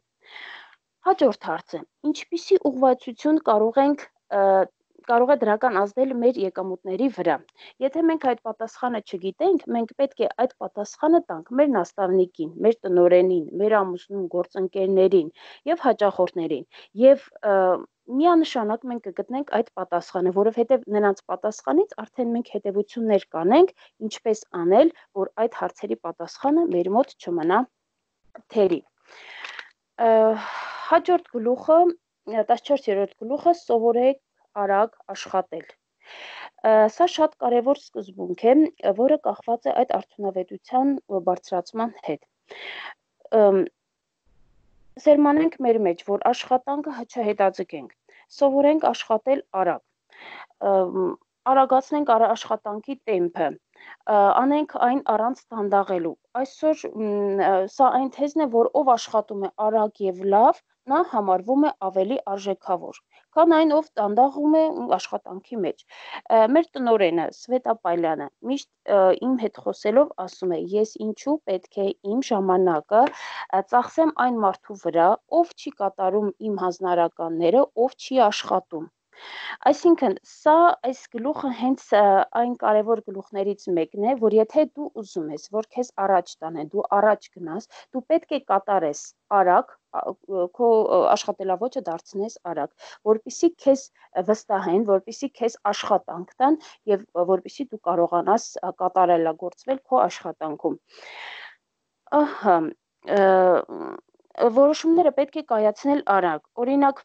Հաջորդ հարցը, ինչպիսի ուղղվածություն կարող ենք կարող է դրական ազդել մեր եկամուտների վրա։ Եթե մենք այդ պատասխանը չգիտենք, մենք պետք է այդ պատասխանը տանք մեր նաստավնիկին, մեր տնօրենին, մեր ամուսնուն, գործընկերներին եւ հաճախորդներին։ Եվ միանշանակ մենք կգտնենք այդ պատասխանը, որովհետեւ նրանց պատասխանից արդեն մենք հետևություններ կանենք, ինչպես անել, որ այդ հարցերի պատասխանը մեր մոտ չմնա թերի։ Հաջորդ գլուխը, տասնչորսերորդ գլուխը, սովորեք արագ աշխատել։ Սա շատ կարևոր սկզբունք է, որը կախված է այդ արդյունավետության բարձրացման հետ։ Սերմանենք մեր մեջ, որ աշխատանքը չհետաձգենք, սովորենք աշխատել արագ, արագացնենք աշխատանքի տեմպը, անենք այն առանց դանդաղելու։ Այսօր սա այն թեզն է, որ ով աշխատում է արագ եւ լավ, նա համարվում է ավելի արժեքավոր, քան այն, ով դանդաղում է աշխատանքի մեջ։ Մեր տնօրենը Սվետա Պայլյանը միշտ իմ հետ խոսելով ասում է, ես ինչու պետք է իմ ժամանակը ծախսեմ այն մարդու վրա, ով չի կատարում իմ հանձնարարականները, ով չի աշխատում։ Այսինքն, սա այս գլուխը հենց այն կարևոր գլուխներից մեկն է, որ եթե դու ուզում ես, որ քեզ առաջ տանեն, դու առաջ գնաս, դու պետք է կատարես արագ, քո աշխատելավոճը դարձնես արագ, որպեսզի քեզ վստահեն, որպեսզի քեզ աշխատանք տան եւ որպեսզի դու կարողանաս կատարելագործվել քո աշխատանքում։ Ահա, որոշումները պետք է կայացնել արագ։ Օրինակ,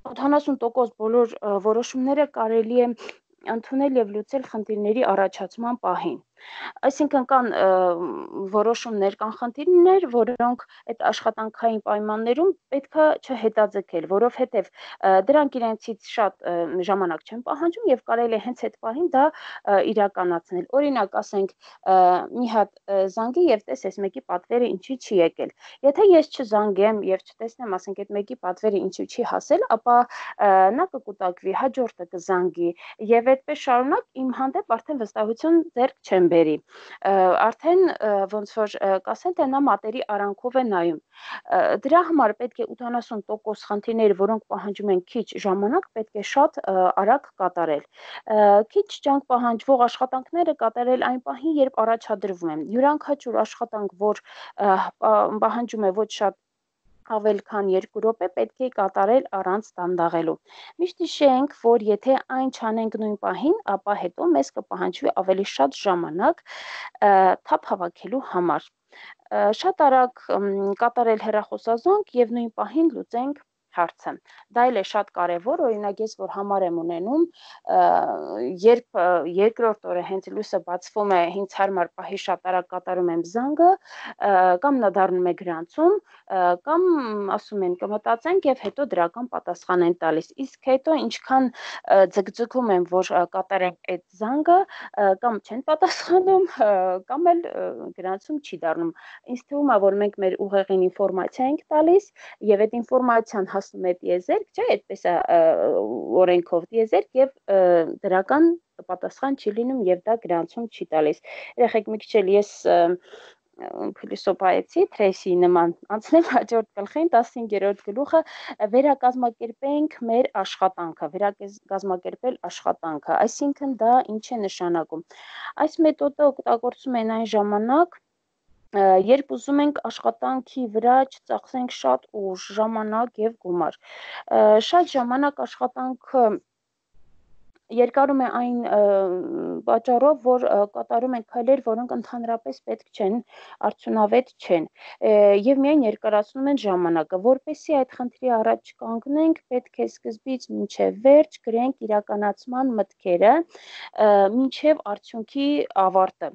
ութանասուն տոկոս բոլոր որոշումները կարելի է ընդունել եւ լուծել խնդիրների առաջացման պահին։ Այսինքն կան որոշումներ, կան խնդիրներ, որոնք այդ աշխատանքային պայմաններում պետքա չհետաձգել, որովհետեւ դրանք իրենցից շատ ժամանակ չեն պահանջում եւ կարելի է հենց այդ պահին դա իրականացնել։ Օրինակ, ասենք, մի հատ զանգի եւ տեսես մեկի պատվերը ինչի չի եկել։ Եթե ես չզանգեմ եւ չտեսնեմ, ասենք, այդ մեկի պատվերը ինչի չի հասել, ապա նա կկուտակվի, հաջորդը կզանգի եւ այդպես շարունակ իմ հանդեպ արդեն վստահություն ձեռք չեմ բերի, արդեն ոնց որ կասեն, թե նա մատերի արանքով է նայում։ Դրա համար պետք է ութանասուն տոկոս խնդիրները, որոնք պահանջում են քիչ ժամանակ, պետք է շատ արագ կատարել։ Քիչ ջանք պահանջվող աշխատանքները կատարել այն պահին, երբ առաջադրվում են։ Յուրաքանչյուր աշխատանք, որ պահանջում է ոչ շատ ավել քան երկու րոպե, պետք է կատարել առանց դանդաղելու։ Միշտ հիշենք, որ եթե այն չանենք նույն պահին, ապա հետո մեզ կպահանջվի ավելի շատ ժամանակ թափ հավաքելու համար։ Շատ արագ կատարել հեռախոսազանգ եւ նույն պահին լուծենք հարցը։ Դա էլ է շատ կարևոր, օրինակ ես որ համար եմ ունենում, երբ երկրորդ օրը հենց լույսը բացվում է, ինձ հարմար պահի շատ արագ կատարում եմ զանգը, կամ նա դառնում է գրանցում, կամ ասում են կմտածենք եւ հետո դրական պատասխան են տալիս։ Իսկ հետո ինչքան ձգձգում եմ, որ կատարեմ այդ զանգը, կամ չեն պատասխանում, կամ էլ գրանցում չի դառնում։ Ինձ թվում է, որ մենք մեր ուղեղին ինֆորմացիա ենք տալիս եւ այդ ինֆորմացիան հասնում է տիեզերք, չէ, այդպես է օրենքով տիեզերք եւ դրական պատասխան չի լինում եւ դա գրանցում չի տալիս։ Երեխեք մի քիչ էլ ես փիլիսոփայեցի, Թրեյսիի նման անցնեմ հաջորդ գլխին, տասնհինգերորդ գլուխը, վերակազմակերպենք մեր աշխատանքը, վերակազմակերպել աշխատանքը, այսինքն դա ինչ է նշանակում։ Այս մեթոդը օգտագործում են այն ժամանակ, երբ ուզում ենք աշխատանքի վրա չծախսենք շատ ուժ, ժամանակ եւ գումար։ Շատ ժամանակ աշխատանքը երկարում է այն պատճառով, որ կատարում են քայլեր, որոնք ընդհանրապես պետք չեն, արդյունավետ չեն, եւ միայն երկարացնում են ժամանակը, որպեսզի այդ խնդրի առաջ կանգնենք, պետք է սկզբից մինչև վերջ գրենք իրականացման մտքերը, մինչև արդյունքի ավարտը։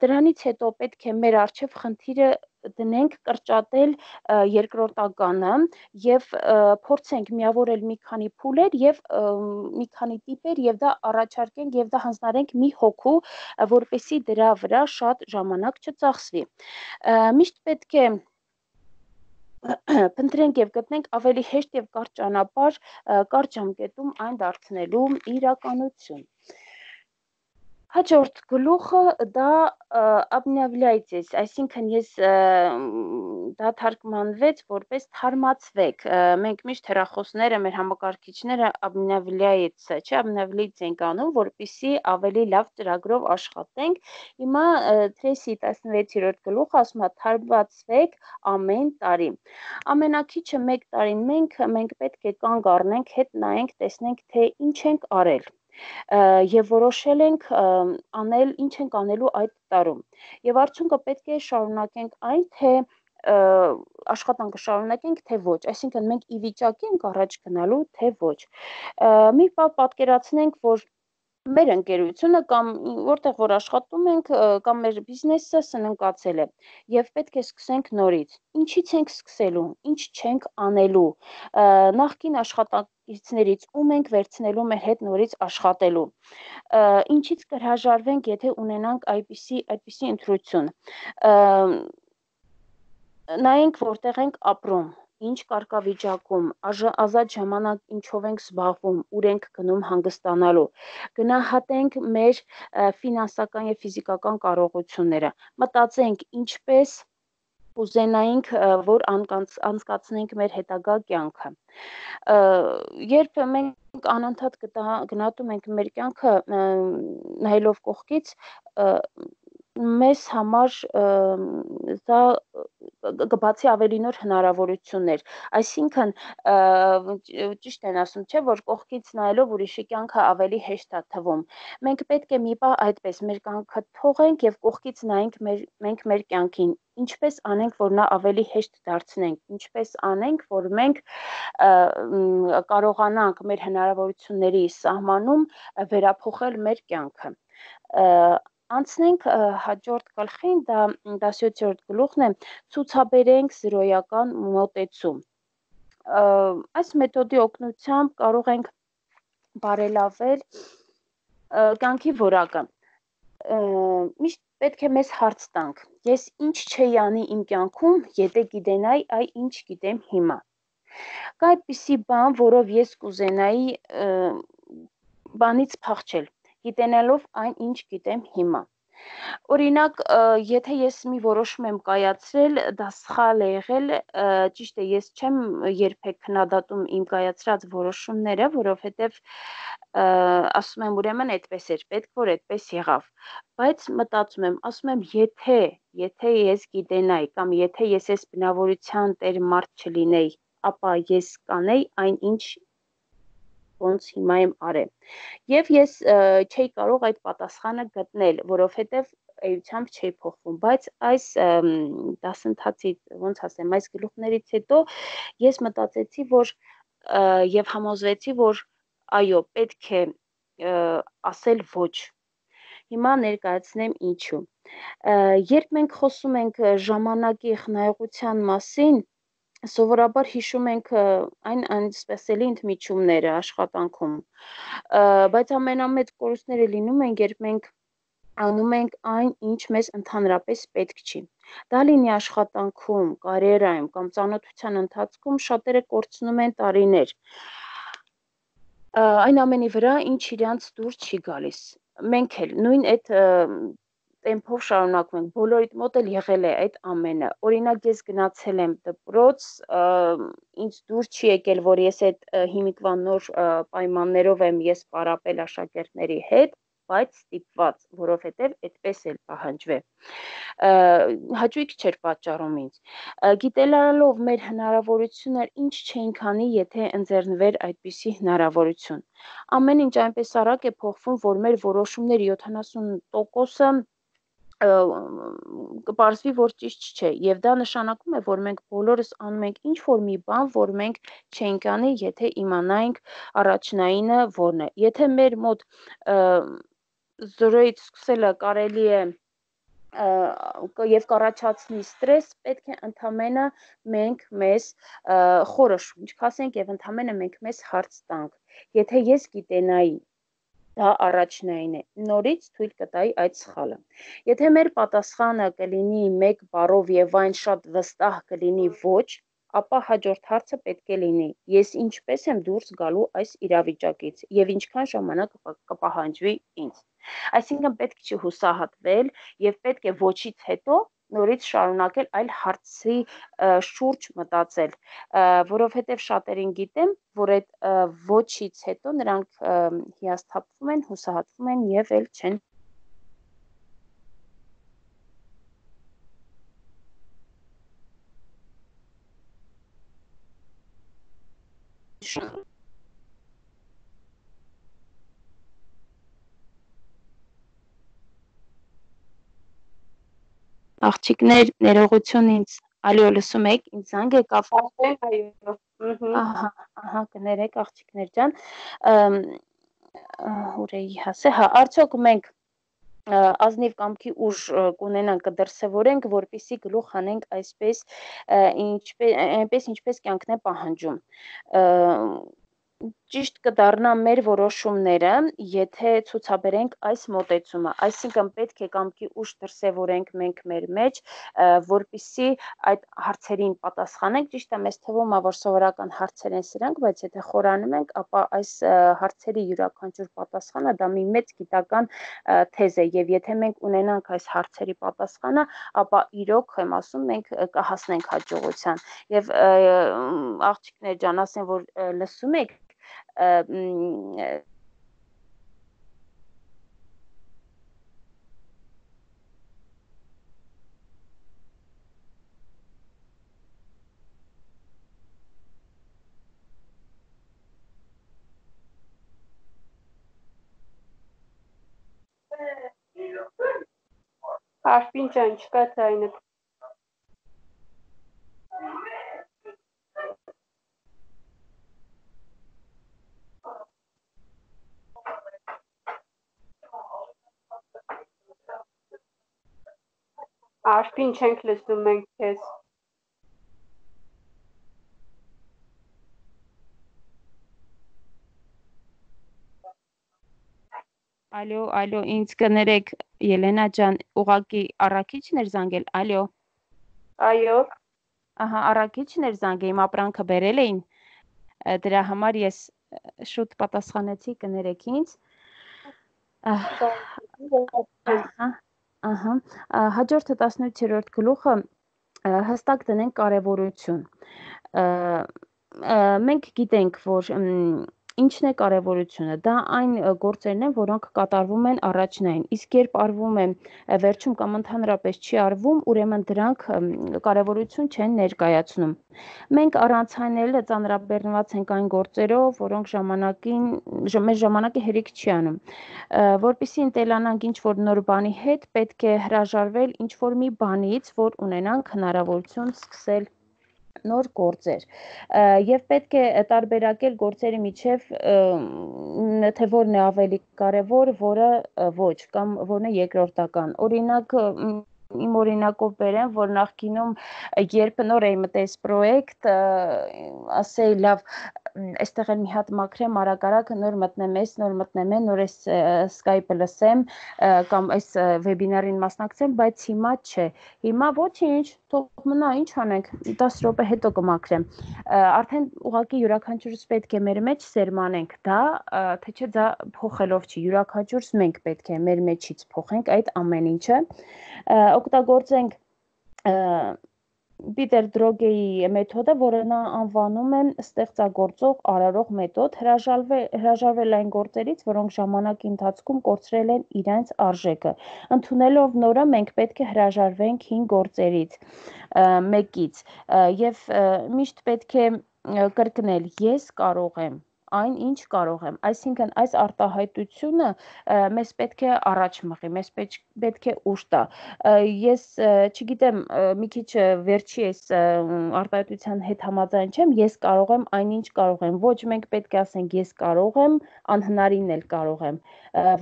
Դրանից հետո պետք է մեր առջև խնդիրը դնենք կրճատել երկրորդականը եւ փորձենք միավորել մի քանի փուլեր եւ մի քանի տիպեր եւ դա առաջարկենք եւ դա հանձնարարենք մի հոգու, որպեսզի դրա վրա շատ ժամանակ չծախսվի։ Միշտ պետք է փնտրենք եւ գտնենք ավելի հեշտ եւ կարճ ճանապարհ կարճ ժամկետում այն դարձնելու իրականություն։ Հաջորդ գլուխը դա обновляйтесь, այսինքն ես դա թարգմանվեց որպես թարմացվեք։ Մենք միշտ հեռախոսները, մեր համակարգիչները обновляется, չէ, обновляется ենք անում, որպեսզի ավելի լավ ծրագրով աշխատենք։ Հիմա Tracy տասնվեցերորդ գլուխը ասում է թարմացվեք ամեն տարի։ Ամենակիչը մեկ տարին մենք մենք պետք է կանգ առնենք, հետ նայենք, տեսնենք թե ինչ ենք արել։ Եվ որոշել ենք անել, ինչ ենք անելու այդ տարում։ Եվ արդյունքը պետք է շարունակենք այն, թե աշխատանքը շարունակենք, թե ոչ, այսինքն մենք ի վիճակի ենք առաջ գնալու, թե ոչ։ Մի բան պատկերացնենք, որ մեր ընկերությունը կամ որտեղ որ աշխատում ենք կամ մեր բիզնեսը սննկացել է եւ պետք է սկսենք նորից։ Ինչից ենք սկսելու, ինչ չենք անելու։ Նախկին աշխատակիցներից ում ենք վերցնելու մեր հետ նորից աշխատելու։ Ինչից կհրաժարվենք, եթե ունենանք այդպիսի այդպիսի ընտրություն։ Նայենք որտեղ ենք ապրում, ինչ կարգավիճակում, ազատ ժամանակ ինչով ենք զբաղվում, ուր ենք գնում հանգստանալու։ Գնահատենք մեր ֆինանսական եւ ֆիզիկական կարողությունները։ Մտածենք ինչպես ուզենայինք, որ անցկացնենք մեր հետագա կյանքը։ Երբ մենք անընդհատ գնահատում ենք մեր կյանքը նայելով կողքից, մեզ համար դա կբացի ավելի նոր հնարավորություններ, այսինքն ճիշտ են ասում, չէ, որ կողքից նայելով ուրիշի կյանքը ավելի հեշտ է թվում։ Մենք պետք է մի բան այդպես մեր կյանքը թողենք եւ կողքից նայենք մեր մենք մեր կյանքին, ինչպես անենք, որ նա ավելի հեշտ դարձնենք, ինչպես անենք, որ մենք կարողանանք մեր հնարավորությունների սահմանում վերափոխել մեր կյանքը։ Անցնենք հաջորդ գլխին, դա դասյոթերորդ գլուխն է, ցուցաբերենք զրոյական մոտեցում։ Այս մեթոդի օգնությամբ կարող ենք բարելավել կյանքի որակը։ Միշտ պետք է մեզ հարց տանք. ես ինչ չէի անի իմ կյանքում, եթե գիտենայի այ ինչ գիտեմ հիմա։ Կա այդպիսի բան, որով ես կուզենայի բանից փախչել, գիտենալով այն ինչ գիտեմ հիմա։ Օրինակ, եթե ես մի որոշում եմ կայացրել, դա սխալ է եղել, ճիշտ է, ես չեմ երբեք քննադատում իմ կայացրած որոշումները, որովհետև ասում եմ ուրեմն այդպես էր, պետք որ այդպես եղավ, բայց մտածում եմ, ասում եմ, եթե, եթե ես գիտենայի կամ եթե ես այս բնավորության տեր մարդ չլինեի, ապա ես կանեի այն ինչ ոնց հիմա եմ արել։ Եվ ես չէի կարող այդ պատասխանը գտնել, որովհետև էությամբ չէի փոխվում, բայց այս դասընթացից, ոնց ասեմ, այս գլուխներից հետո ես մտածեցի, որ եւ համոզվեցի, որ այո, պետք է ասել ոչ։ Հիմա ներկայացնեմ ինչու։ Երբ մենք խոսում ենք ժամանակի խնայողության մասին, սովորաբար հիշում ենք այն անսպասելի ընդմիջումները աշխատանքում, բայց ամենամեծ կորուստները լինում են, երբ մենք անում ենք այն, ինչ մեզ ընդհանրապես պետք չի։ Դա լինի աշխատանքում, կարիերայում կամ ծանոթության ընթացքում շատերը կորցնում են տարիներ։ Այն ամենի վրա, ինչ իրանց դուր չի գալիս։ Մենք էլ նույն այդ տեմպով շարունակում ենք, բոլորիդ մոտ էլ եղել է այդ ամենը։ Օրինակ ես գնացել եմ դպրոց, ինձ դուր չի եկել, որ ես այդ հիմիկվա նոր պայմաններով եմ ես պարապել աշակերտների հետ, բայց ստիպված, որովհետև այդպես էլ պահանջվել։ Հաճույք չէր պատճառում ինձ։ Գիտելալով մեր հնարավորություններ ինչ չէինք անի, եթե ընձեռնվեր այդպիսի հնարավորություն։ Ամեն ինչ այնպես արագ է փոխվում, որ մեր որոշումների յոթանասուն տոկոսը կպարզվի, որ ճիշտ չէ, եւ դա նշանակում է, որ մենք բոլորս անում ենք ինչ որ մի բան, որ մենք չենք անի, եթե իմանայինք առաջնայինը որն է։ Եթե մեր մոտ զրոյից սկսելը կարելի է եւ կառաջացնի ստրես, պետք է ընդամենը մենք մեզ խորը շունչ քասենք եւ ընդամենը մենք մեզ հարց տանք։ Եթե ես գիտենայի, դա առաջնային է, նորից թույլ կտայի այդ սխալը։ Եթե մեր պատասխանը կլինի մեկ բառով եւ այն շատ վստահ կլինի ոչ, ապա հաջորդ հարցը պետք է լինի. ես ինչպես եմ դուրս գալու այս իրավիճակից եւ ինչքան ժամանակ կպահանջվի ինձ։ Այսինքն պետք չի հուսահատվել եւ պետք է ոչից հետո նորից շարունակել այլ հարցի շուրջ մտածել, որովհետեւ շատերին գիտեմ, որ այդ ոչից հետո նրանք հիասթափվում են, հուսահատվում են եւ էլ չեն Աղջիկներ, ներողություն ինձ, ալո, լսում եք, ինձ զանգ է կապել, այո, ահա, ահա, կներեք աղջիկներ ջան, ուր էի հասե, հա, արդյոք մենք ազնիվ կամքի ուժ կունենանք, կդրսևորենք, որպեսզի գլուխ հանենք այսպես, այնպես ինչպես կյանքն է պահանջում։ Ճիշտ կդառնա մեր որոշումները, եթե ցուցաբերենք այս մոտեցումը, այսինքն պետք է կամքի ուժ դրսևորենք մենք մեր մեջ, որպեսզի այդ հարցերին պատասխանենք, ճիշտ է, մեզ թվում է, որ սովորական հարցեր են սրանք, բայց եթե խորանում ենք, ապա այս հարցերի յուրաքանչյուր պատասխանը դա մի մեծ գիտական թեզ է, եւ եթե մենք ունենանք այս հարցերի պատասխանը, ապա իրոք եմ ասում, մենք կհասնենք հաջողության։ Եվ աղջիկներ ջան, ասեմ, որ լսում եք Արփին ջան, չկա ձայնը։ Արփին չենք լսում մենք քեզ։ Ալո, ալո, ինձ կներեք, Ելենա ջան, ուղակի առաքիչն էր զանգել, ալո։ Այո։ Ահա, առաքիչն էր զանգել, իմ ապրանքը բերել էին։ Դրա համար ես շուտ պատասխանեցի, կներեք ինձ։ Ահա, ահա, հաջորդը տասնութերորդ գլուխը հստակ դնենք կարևորություն։ Մենք գիտենք, որ ինչն է կարևորությունը, դա այն գործերն են, որոնք կատարվում են առաջնային, իսկ երբ արվում է վերջում կամ ընդհանրապես չի արվում, ուրեմն դրանք կարևորություն չեն ներկայացնում։ Մենք առանց այն էլ ծանրաբեռնված ենք այն գործերով, որոնք ժամանակին մեր ժամանակի հերիք չի անում։ Որպեսզի ընտելանանք ինչ-որ նոր բանի հետ, պետք է հրաժարվել ինչ-որ մի բանից, որ ունենանք հնարավորություն սկսել նոր գործեր եւ պետք է տարբերակել գործերի միջև թե որն է ավելի կարեւոր, որը ոչ կամ որն է երկրորդական։ Օրինակ իմ օրինակով բերեմ, որ նախկինում երբ նոր էի մտես պրոյեկտ, ասեի լավ, այստեղ էլ մի հատ մաքրեմ, արագ-արագ նոր մտնեմ ես, նոր մտնեմ են, նոր այս Skype-ը լսեմ կամ այս վեբինարին մասնակցեմ, բայց հիմա չէ։ Հիմա ոչինչ, թող մնա, ինչ անենք, դաս րոպե հետո կմաքրեմ։ Արդեն ուղղակի յուրաքանչյուրս պետք է մեր մեջ սերմանենք դա, թե չէ դա փոխելով չի, յուրաքանչյուրս մենք պետք է մեր մեջից փոխենք այդ ամեն ինչը, օգտագործենք Պիտեր Դրոգեի մեթոդը, որը նա անվանում է ստեղծագործող արարող մեթոդ, հրաժարվել այն գործերից, որոնք ժամանակի ընթացքում կորցրել են իրենց արժեքը։ Ընդունելով նորը մենք պետք է հրաժարվենք հին գործերից, մեկից, եւ միշտ պետք է կրկնել, ես կարող եմ, այն, ինչ կարող եմ։ Այսինքն այս արտահայտությունը մեզ պետք է առաջ մղի, մեզ պետք է ուժ տա։ Ես չգիտեմ, մի քիչ վերջի այս արտահայտության հետ համաձայն չեմ, ես կարող եմ այնինչ կարող եմ։ Ոչ, մենք պետք է ասենք ես կարող եմ, անհնարինն էլ կարող եմ,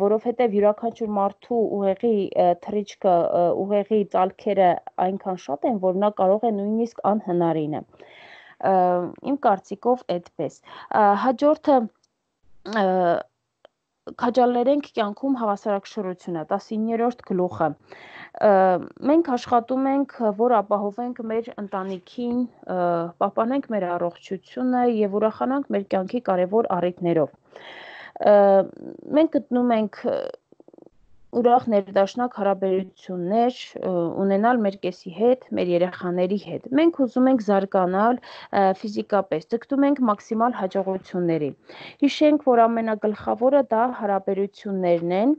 որովհետև յուրաքանչյուր մարդու ուղեղի թռիչքը, ուղեղի ծալքերը այնքան շատ են, որ նա կարող է նույնիսկ անհնարինը։ Իմ կարծիքով այդպես։ Հաջորդը քաջալերենք կյանքում հավասարակշռությունը, տասիններորդ գլուխը։ Մենք աշխատում ենք, որ ապահովենք մեր ընտանիքին, պահպանենք մեր առողջությունը եւ ուրախանանք մեր կյանքի կարևոր առիթներով։ Մենք գտնում ենք ուրախ ներդաշնակ հարաբերություններ ունենալ մեր կեսի հետ, մեր երեխաների հետ։ Մենք ուզում ենք զարգանալ ֆիզիկապես, ձգտում ենք մաքսիմալ հաջողությունների։ Հիշենք, որ ամենագլխավորը դա հարաբերություններն են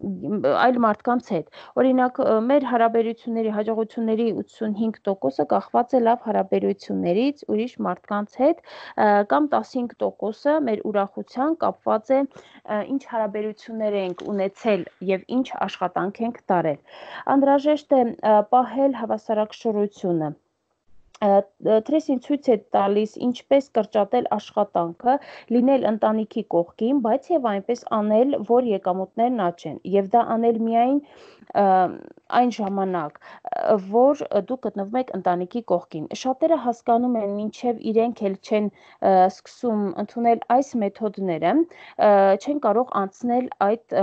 այլ մարդկանց հետ։ Օրինակ, մեր հարաբերությունների հաջողությունների ութսունհինգ տոկոսը կախված է լավ հարաբերություններից ուրիշ մարդկանց հետ, կամ տասնհինգ տոկոսը մեր ուրախության կապված է ինչ հարաբերություններ ենք ունեցել եւ ինչ աշխատանք ենք տարել։ Անհրաժեշտ է պահել հավասարակշռությունը։ Թրեսին ցույց է տալիս ինչպես կրճատել աշխատանքը, լինել ընտանիքի կողքին, բայց եւ այնպես անել, որ եկամուտներն աճեն, եւ դա անել միայն այն ժամանակ, որ դուք գտնվում եք ընտանիքի կողքին։ Շատերը հասկանում են, մինչև իրենք էլ չեն սկսում ընդունել այս մեթոդները, չեն կարող անցնել այդ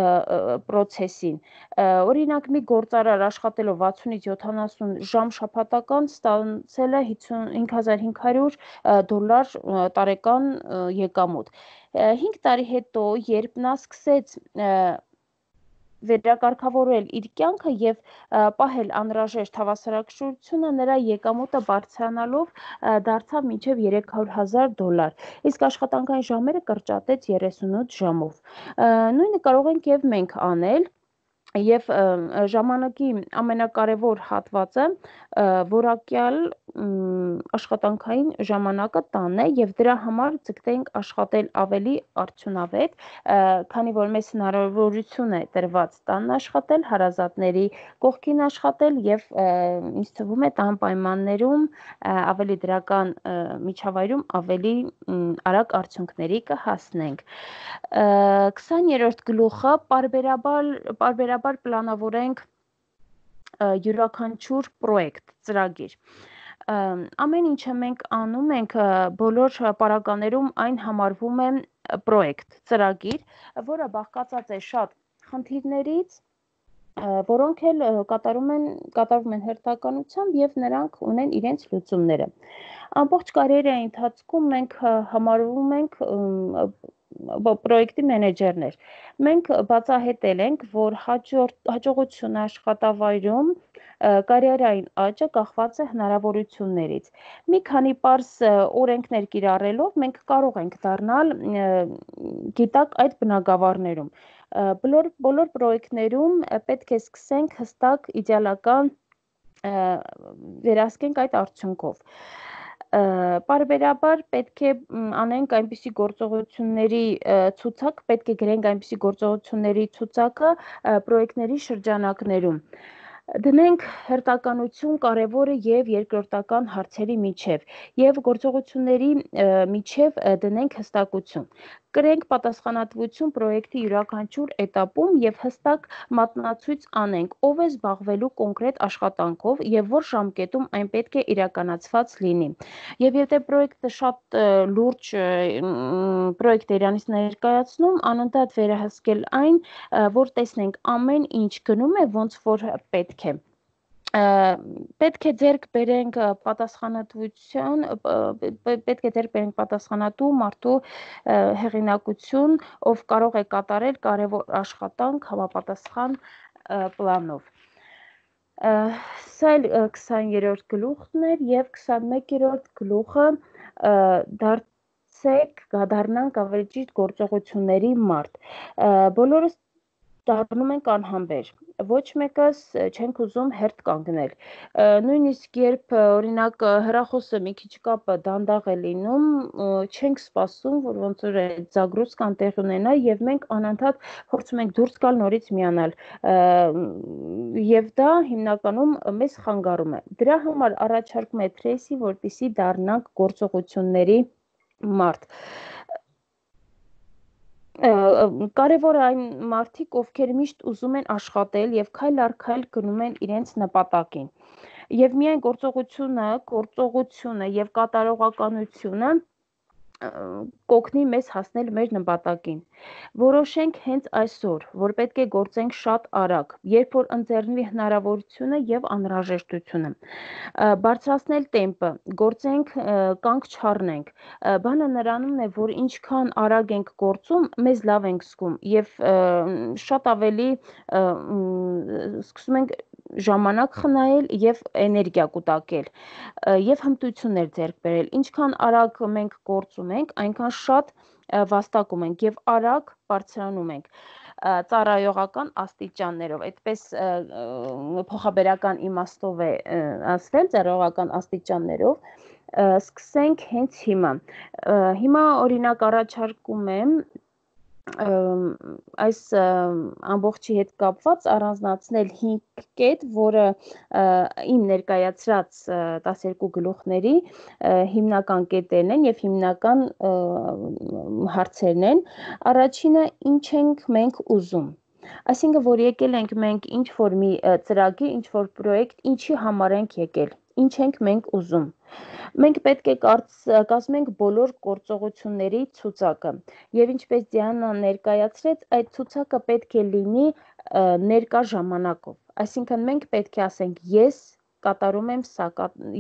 process-ին։ Օրինակ, մի գործարար աշխատելով վաթսունից յոթանասուն ժամ շաբաթական ստացել է հինգ հազար հինգ հարյուր դոլար տարեկան եկամուտ։ հինգ տարի հետո, երբ նա սկսեց վերակարգավորել իր կյանքը եւ պահել անհրաժեշտ հավասարակշռությունը, նրա եկամուտը բարձրանալով դարձավ մինչև երեք հարյուր հազար դոլար, իսկ աշխատանքային ժամերը կրճատեց երեսունութ ժամով։ Նույնը կարող ենք եւ մենք անել, եւ ժամանակի ամենակարևոր հատվածը որակյալ աշխատանքային ժամանակը տանն է եւ դրա համար ցկտենք աշխատել ավելի արդյունավետ, քանի որ մեզ հնարավորություն է տրված տանն աշխատել, հարազատների կողքին աշխատել եւ ինձ թվում է տան պայմաններում ավելի դրական միջավայրում ավելի արագ արդյունքների կհասնենք։ քսաներորդ գլուխը պարբերաբար պարբերաբար պլանավորենք յուրաքանչյուր պրոյեկտ, ծրագիր։ Ամեն ինչը մենք անում ենք, բոլոր պարագաներում այն համարվում է պրոյեկտ, ծրագիր, որը բաղկացած է շատ խնդիրներից, որոնք էլ կատարում են կատարվում են հերթականությամբ եւ նրանք ունեն իրենց լուծումները։ Ամբողջ կարիերայի ընթացքում մենք համարվում ենք պրոյեկտի մենեջերներ։ Մենք բացահայտել ենք, որ հաջողությունը աշխատավայրում կարիերային աճը կախված է հնարավորություններից։ Մի քանի պարզ օրենքներ կիրառելով մենք կարող ենք դառնալ գիտակ այդ բնագավառներում։ Բոլոր բոլոր պրոյեկտներում պետք է սկսենք հստակ իդեալական վերահսկենք այդ արդյունքով։ Պարբերաբար պետք է անենք այնպիսի գործողությունների ցուցակ, պետք է գրենք այնպիսի գործողությունների ցուցակը պրոյեկտների շրջանակներում։ Դնենք հերթականություն կարևորը եւ երկրորդական հարցերի միջև եւ գործողությունների միջև դնենք հստակություն։ Կրենք պատասխանատվություն պրոյեկտի յուրաքանչյուր էտապում եւ հստակ մատնացույց անենք, ով է զբաղվելու կոնկրետ աշխատանքով եւ որ ժամկետում այն պետք է իրականացված լինի։ Եվ եթե պրոյեկտը շատ լուրջ պրոյեկտ է իրանից ներկայացնում, անընդհատ վերահսկել այն, որ տեսնենք ամեն ինչ գնում է ոնց որ պետք է։ Պետք է ձեռք բերենք պատասխանատվություն, պետք է ձեռք բերենք պատասխանատու մարդու հեղինակություն, ով կարող է կատարել կարևոր աշխատանք համապատասխան պլանով։ Սա էլ քսաներորդ գլուխն էր եւ քսանմեկերորդ գլուխը դարձեք, դառնանք ավելի ճիշտ գործողությունների մարդ։ Բոլորս դառնում ենք անհամբեր, ոչ մեկս չենք ուզում հերթ կանգնել, նույնիսկ երբ օրինակ հեռախոսը մի քիչ կապը դանդաղ է լինում, չենք սպասում, որ ոնց որ այդ զագրոսկան տեղ ունենա եւ մենք անընդհատ փորձում ենք դուրս գալ նորից միանալ, եւ դա հիմնականում մեզ խանգարում է, դրա համար առաջարկում է Tracy, որպեսզի դառնանք գործողությունների մարդ, կարևոր այն մարդիկ, ովքեր միշտ ուզում են աշխատել եւ քայլ առ քայլ գնում են իրենց նպատակին։ Եվ միայն գործողությունը, գործողությունը եւ կատարողականությունը կօգնի մեզ հասնել մեր նպատակին։ Որոշենք հենց այսօր, որ պետք է գործենք շատ արագ, երբ որ ընձեռնվի հնարավորությունը եւ անհրաժեշտությունը։ Բարձրացնել տեմպը, գործենք, կանգ չառնենք։ Բանը նրանումն է, որ ինչքան արագ ենք գործում, մեզ լավ ենք զգում եւ շատ ավելի սկսում ենք ժամանակ խնայել եւ էներգիա կուտակել եւ հմտություններ ձեռք բերել, ինչքան արագ մենք գործում ենք, այնքան շատ վաստակում ենք եւ արագ բարձրանում ենք ծառայողական աստիճաններով, այդպես փոխաբերական իմաստով է ասվել, ծառայողական աստիճաններով, սկսենք հենց հիմա, հիմա օրինակ առաջարկում եմ այս ամբողջի հետ կապված առանձնացնել հինգ կետ, որը իմ ներկայացրած տասներկու գլուխների հիմնական կետերն են եւ հիմնական հարցերն են, առաջինը ինչ ենք մենք ուզում, այսինքն որ եկել ենք մենք ինչ որ մի ծրագիր, ինչ որ պրոյեկտ, ինչի համար ենք եկել, ինչ ենք մենք ուզում, մենք պետք է կազմենք բոլոր գործողությունների ցուցակը եւ ինչպես Դիանան ներկայացրեց, այդ ցուցակը պետք է լինի ներկա ժամանակով, այսինքն մենք պետք է ասենք ես կատարում եմ սա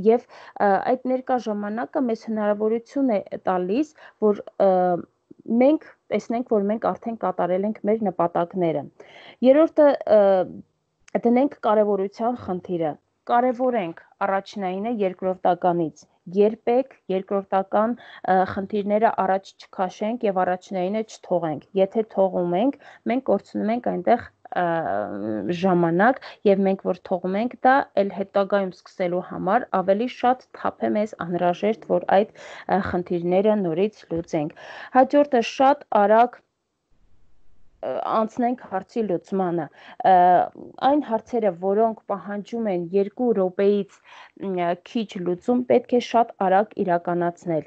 եւ այդ ներկա ժամանակը մեզ հնարավորություն է տալիս, որ մենք տեսնենք, որ մենք արդեն կատարել ենք մեր նպատակները։ Երրորդը դնենք կարևորության խնդիրը, կարևորենք առաջնայինը երկրորդականից, երբեք երկրորդական խնդիրները առաջ չքաշենք եւ առաջնայինը չթողենք, եթե թողում ենք, մենք կորցնում ենք այնտեղ ժամանակ եւ մենք որ թողում ենք դա էլ հետագայում սկսելու համար ավելի շատ թափ է մեզ անհրաժեշտ, որ այդ խնդիրները նորից լուծենք։ Հաջորդը շատ արագ անցնենք հարցի լուծմանը, այն հարցերը, որոնք պահանջում են երկու րոպեից քիչ լուծում, պետք է շատ արագ իրականացնել,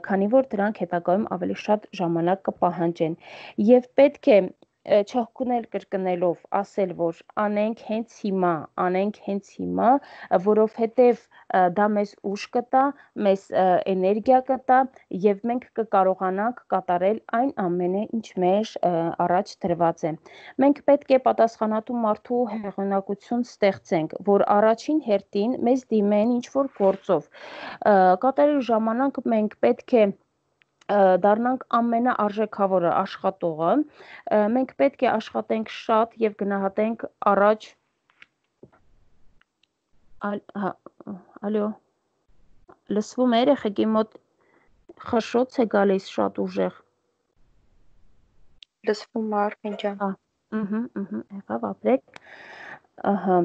քանի որ դրանք հետագայում ավելի շատ ժամանակ կպահանջեն եւ պետք է չհոգնել կրկնելով ասել, որ անենք հենց հիմա, անենք հենց հիմա, որովհետև դա մեզ ուժ կտա, մեզ էներգիա կտա եւ մենք կկարողանանք կատարել այն ամենը, ինչ մեր առաջ դրված է։ Մենք պետք է պատասխանատու մարդու հեղինակություն ստեղծենք, որ առաջին հերթին մեզ դիմեն ինչ-որ գործով։ Կատարելու ժամանակ մենք պետք է դառնանք ամենաարժեքավորը աշխատողը, մենք պետք է աշխատենք շատ եւ գնահատենք առաջ ալո լսվում է երեխեքի մոտ խշշոց է գալիս շատ ուժեղ լսվում է Արմեն ջան ըհը ըհը եղավ ապրեք ահա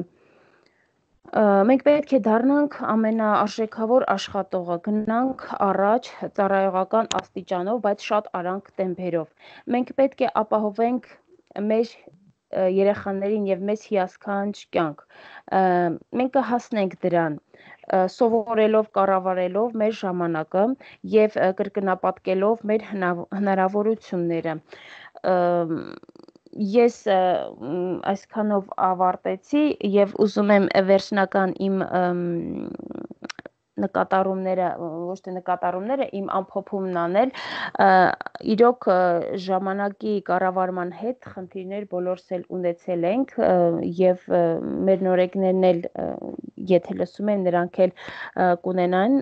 մենք պետք է դառնանք ամենաարժեքավոր աշխատողը, գնանք առաջ ծառայողական աստիճանով, բայց շատ արագ տեմպերով։ Մենք պետք է ապահովենք մեր երեխաներին եւ մեզ հիասքանչ կյանք։ Մենք կհասնենք դրան սովորելով, կառավարելով մեր ժամանակը եւ կրկնապատկելով մեր հնարավորությունները։ Ես այսքանով ավարտեցի եւ ուզում եմ վերջնական իմ նկատառումները, ոչ թե նկատառումները, իմ ամփոփումն անել, իրոք ժամանակի կառավարման հետ խնդիրներ բոլորս էլ ունեցել ենք եւ մեր նորեկներն էլ եթե լսում են նրանք էլ կունենան,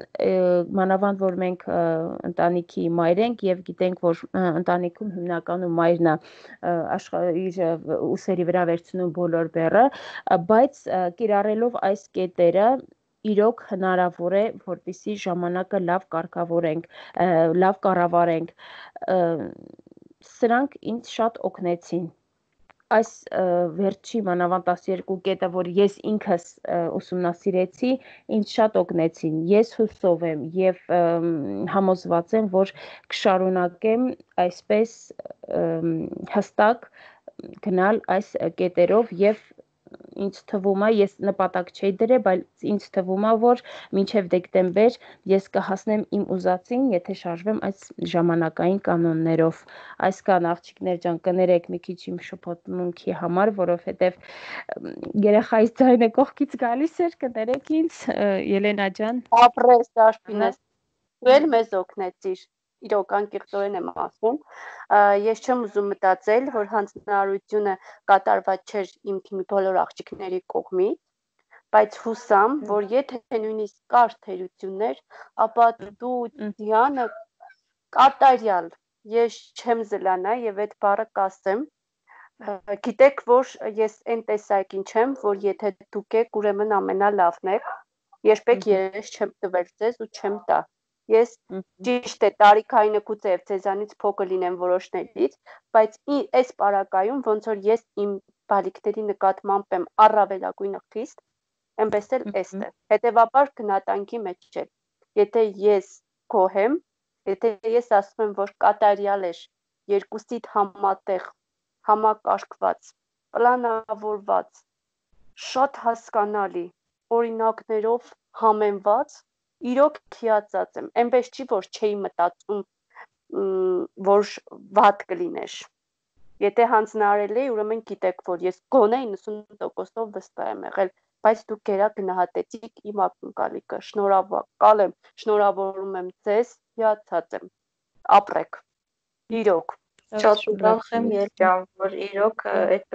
մանավանդ որ մենք ընտանիքի մայր ենք եւ գիտենք, որ ընտանիքում հիմնականում մայրն է իր ուսերի վրա վերցնում բոլոր բեռը, բայց կիրառելով այս կետերը իրոք հնարավոր է, որպեսզի ժամանակը լավ կարգավորենք, լավ կառավարենք։ Սրանք ինձ շատ օգնեցին։ այս վերջի մանավանդ տասներկու կետը, որ ես ինքս ուսումնասիրեցի, ինձ շատ օգնեցին։ Ես հուսով եմ եւ համոզված եմ, որ կշարունակեմ այսպես հստակ գնալ այս կետերով եւ ինձ թվում է, ես նպատակ չէի դրել, բայց ինձ թվում է, որ մինչև դեկտեմբեր ես կհասնեմ իմ ուզածին, եթե շարժվեմ այս ժամանակային կանոններով։ Այսքան աղջիկներ ջան, կներեք մի քիչ իմ շփոթմունքի համար, որովհետև երեխայից ձայնը կողքից գալիս էր, կներեք ինձ, Ելենա ջան։ Ապրես, Արփինես, դու էլ մեզ օգնեցիր։ Իրոք անկեղծորեն եմ ասում, ես չեմ ուզում մտածել, որ հանձնարարությունը կատարված չէր իմ թիմի բոլոր աղջիկների կողմից, բայց հուսամ, որ եթե նույնիսկ կար թերություններ, ապա դու Դիանը կատարյալ, ես չեմ զլանա եւ այդ բառը կասեմ, գիտեք, որ ես այն տեսակին չեմ, որ եթե դուք եք, ուրեմն ամենալավն եք, երբեք երես չեմ տվել ձեզ ու չեմ տա։ Ես ճիշտ է տարիքային գուցե եւ ձեզանից փոքր լինեմ որոշներից, բայց այս պարագայում ոնց որ ես իմ բալիկների նկատմամբ եմ առավելագույնը խիստ, այնպես էլ էստեղ։ Հետևաբար գնահատանքի մեջ է։ Եթե ես գոհ եմ, եթե ես ասում եմ, որ կատարյալ էր, երկուսիդ համատեղ, համակարգված, պլանավորված, շատ հասկանալի, օրինակներով համեմված, իրոք հիացած եմ, այնպես չի, որ չէի մտածում, որ վատ կլիներ։ Եթե հանձնարարել էի, ուրեմն գիտեք, որ ես գոնե իննսուն տոկոսով վստահ եմ եղել, բայց դուք գերա գնահատեցիք իմ ակնկալիքը, շնորհակալ եմ, շնորհավորում եմ ձեզ, հիացած եմ, ապրեք, իրոք։ Շատ ուրախ եմ, Ել ջան, որ իրոք այդ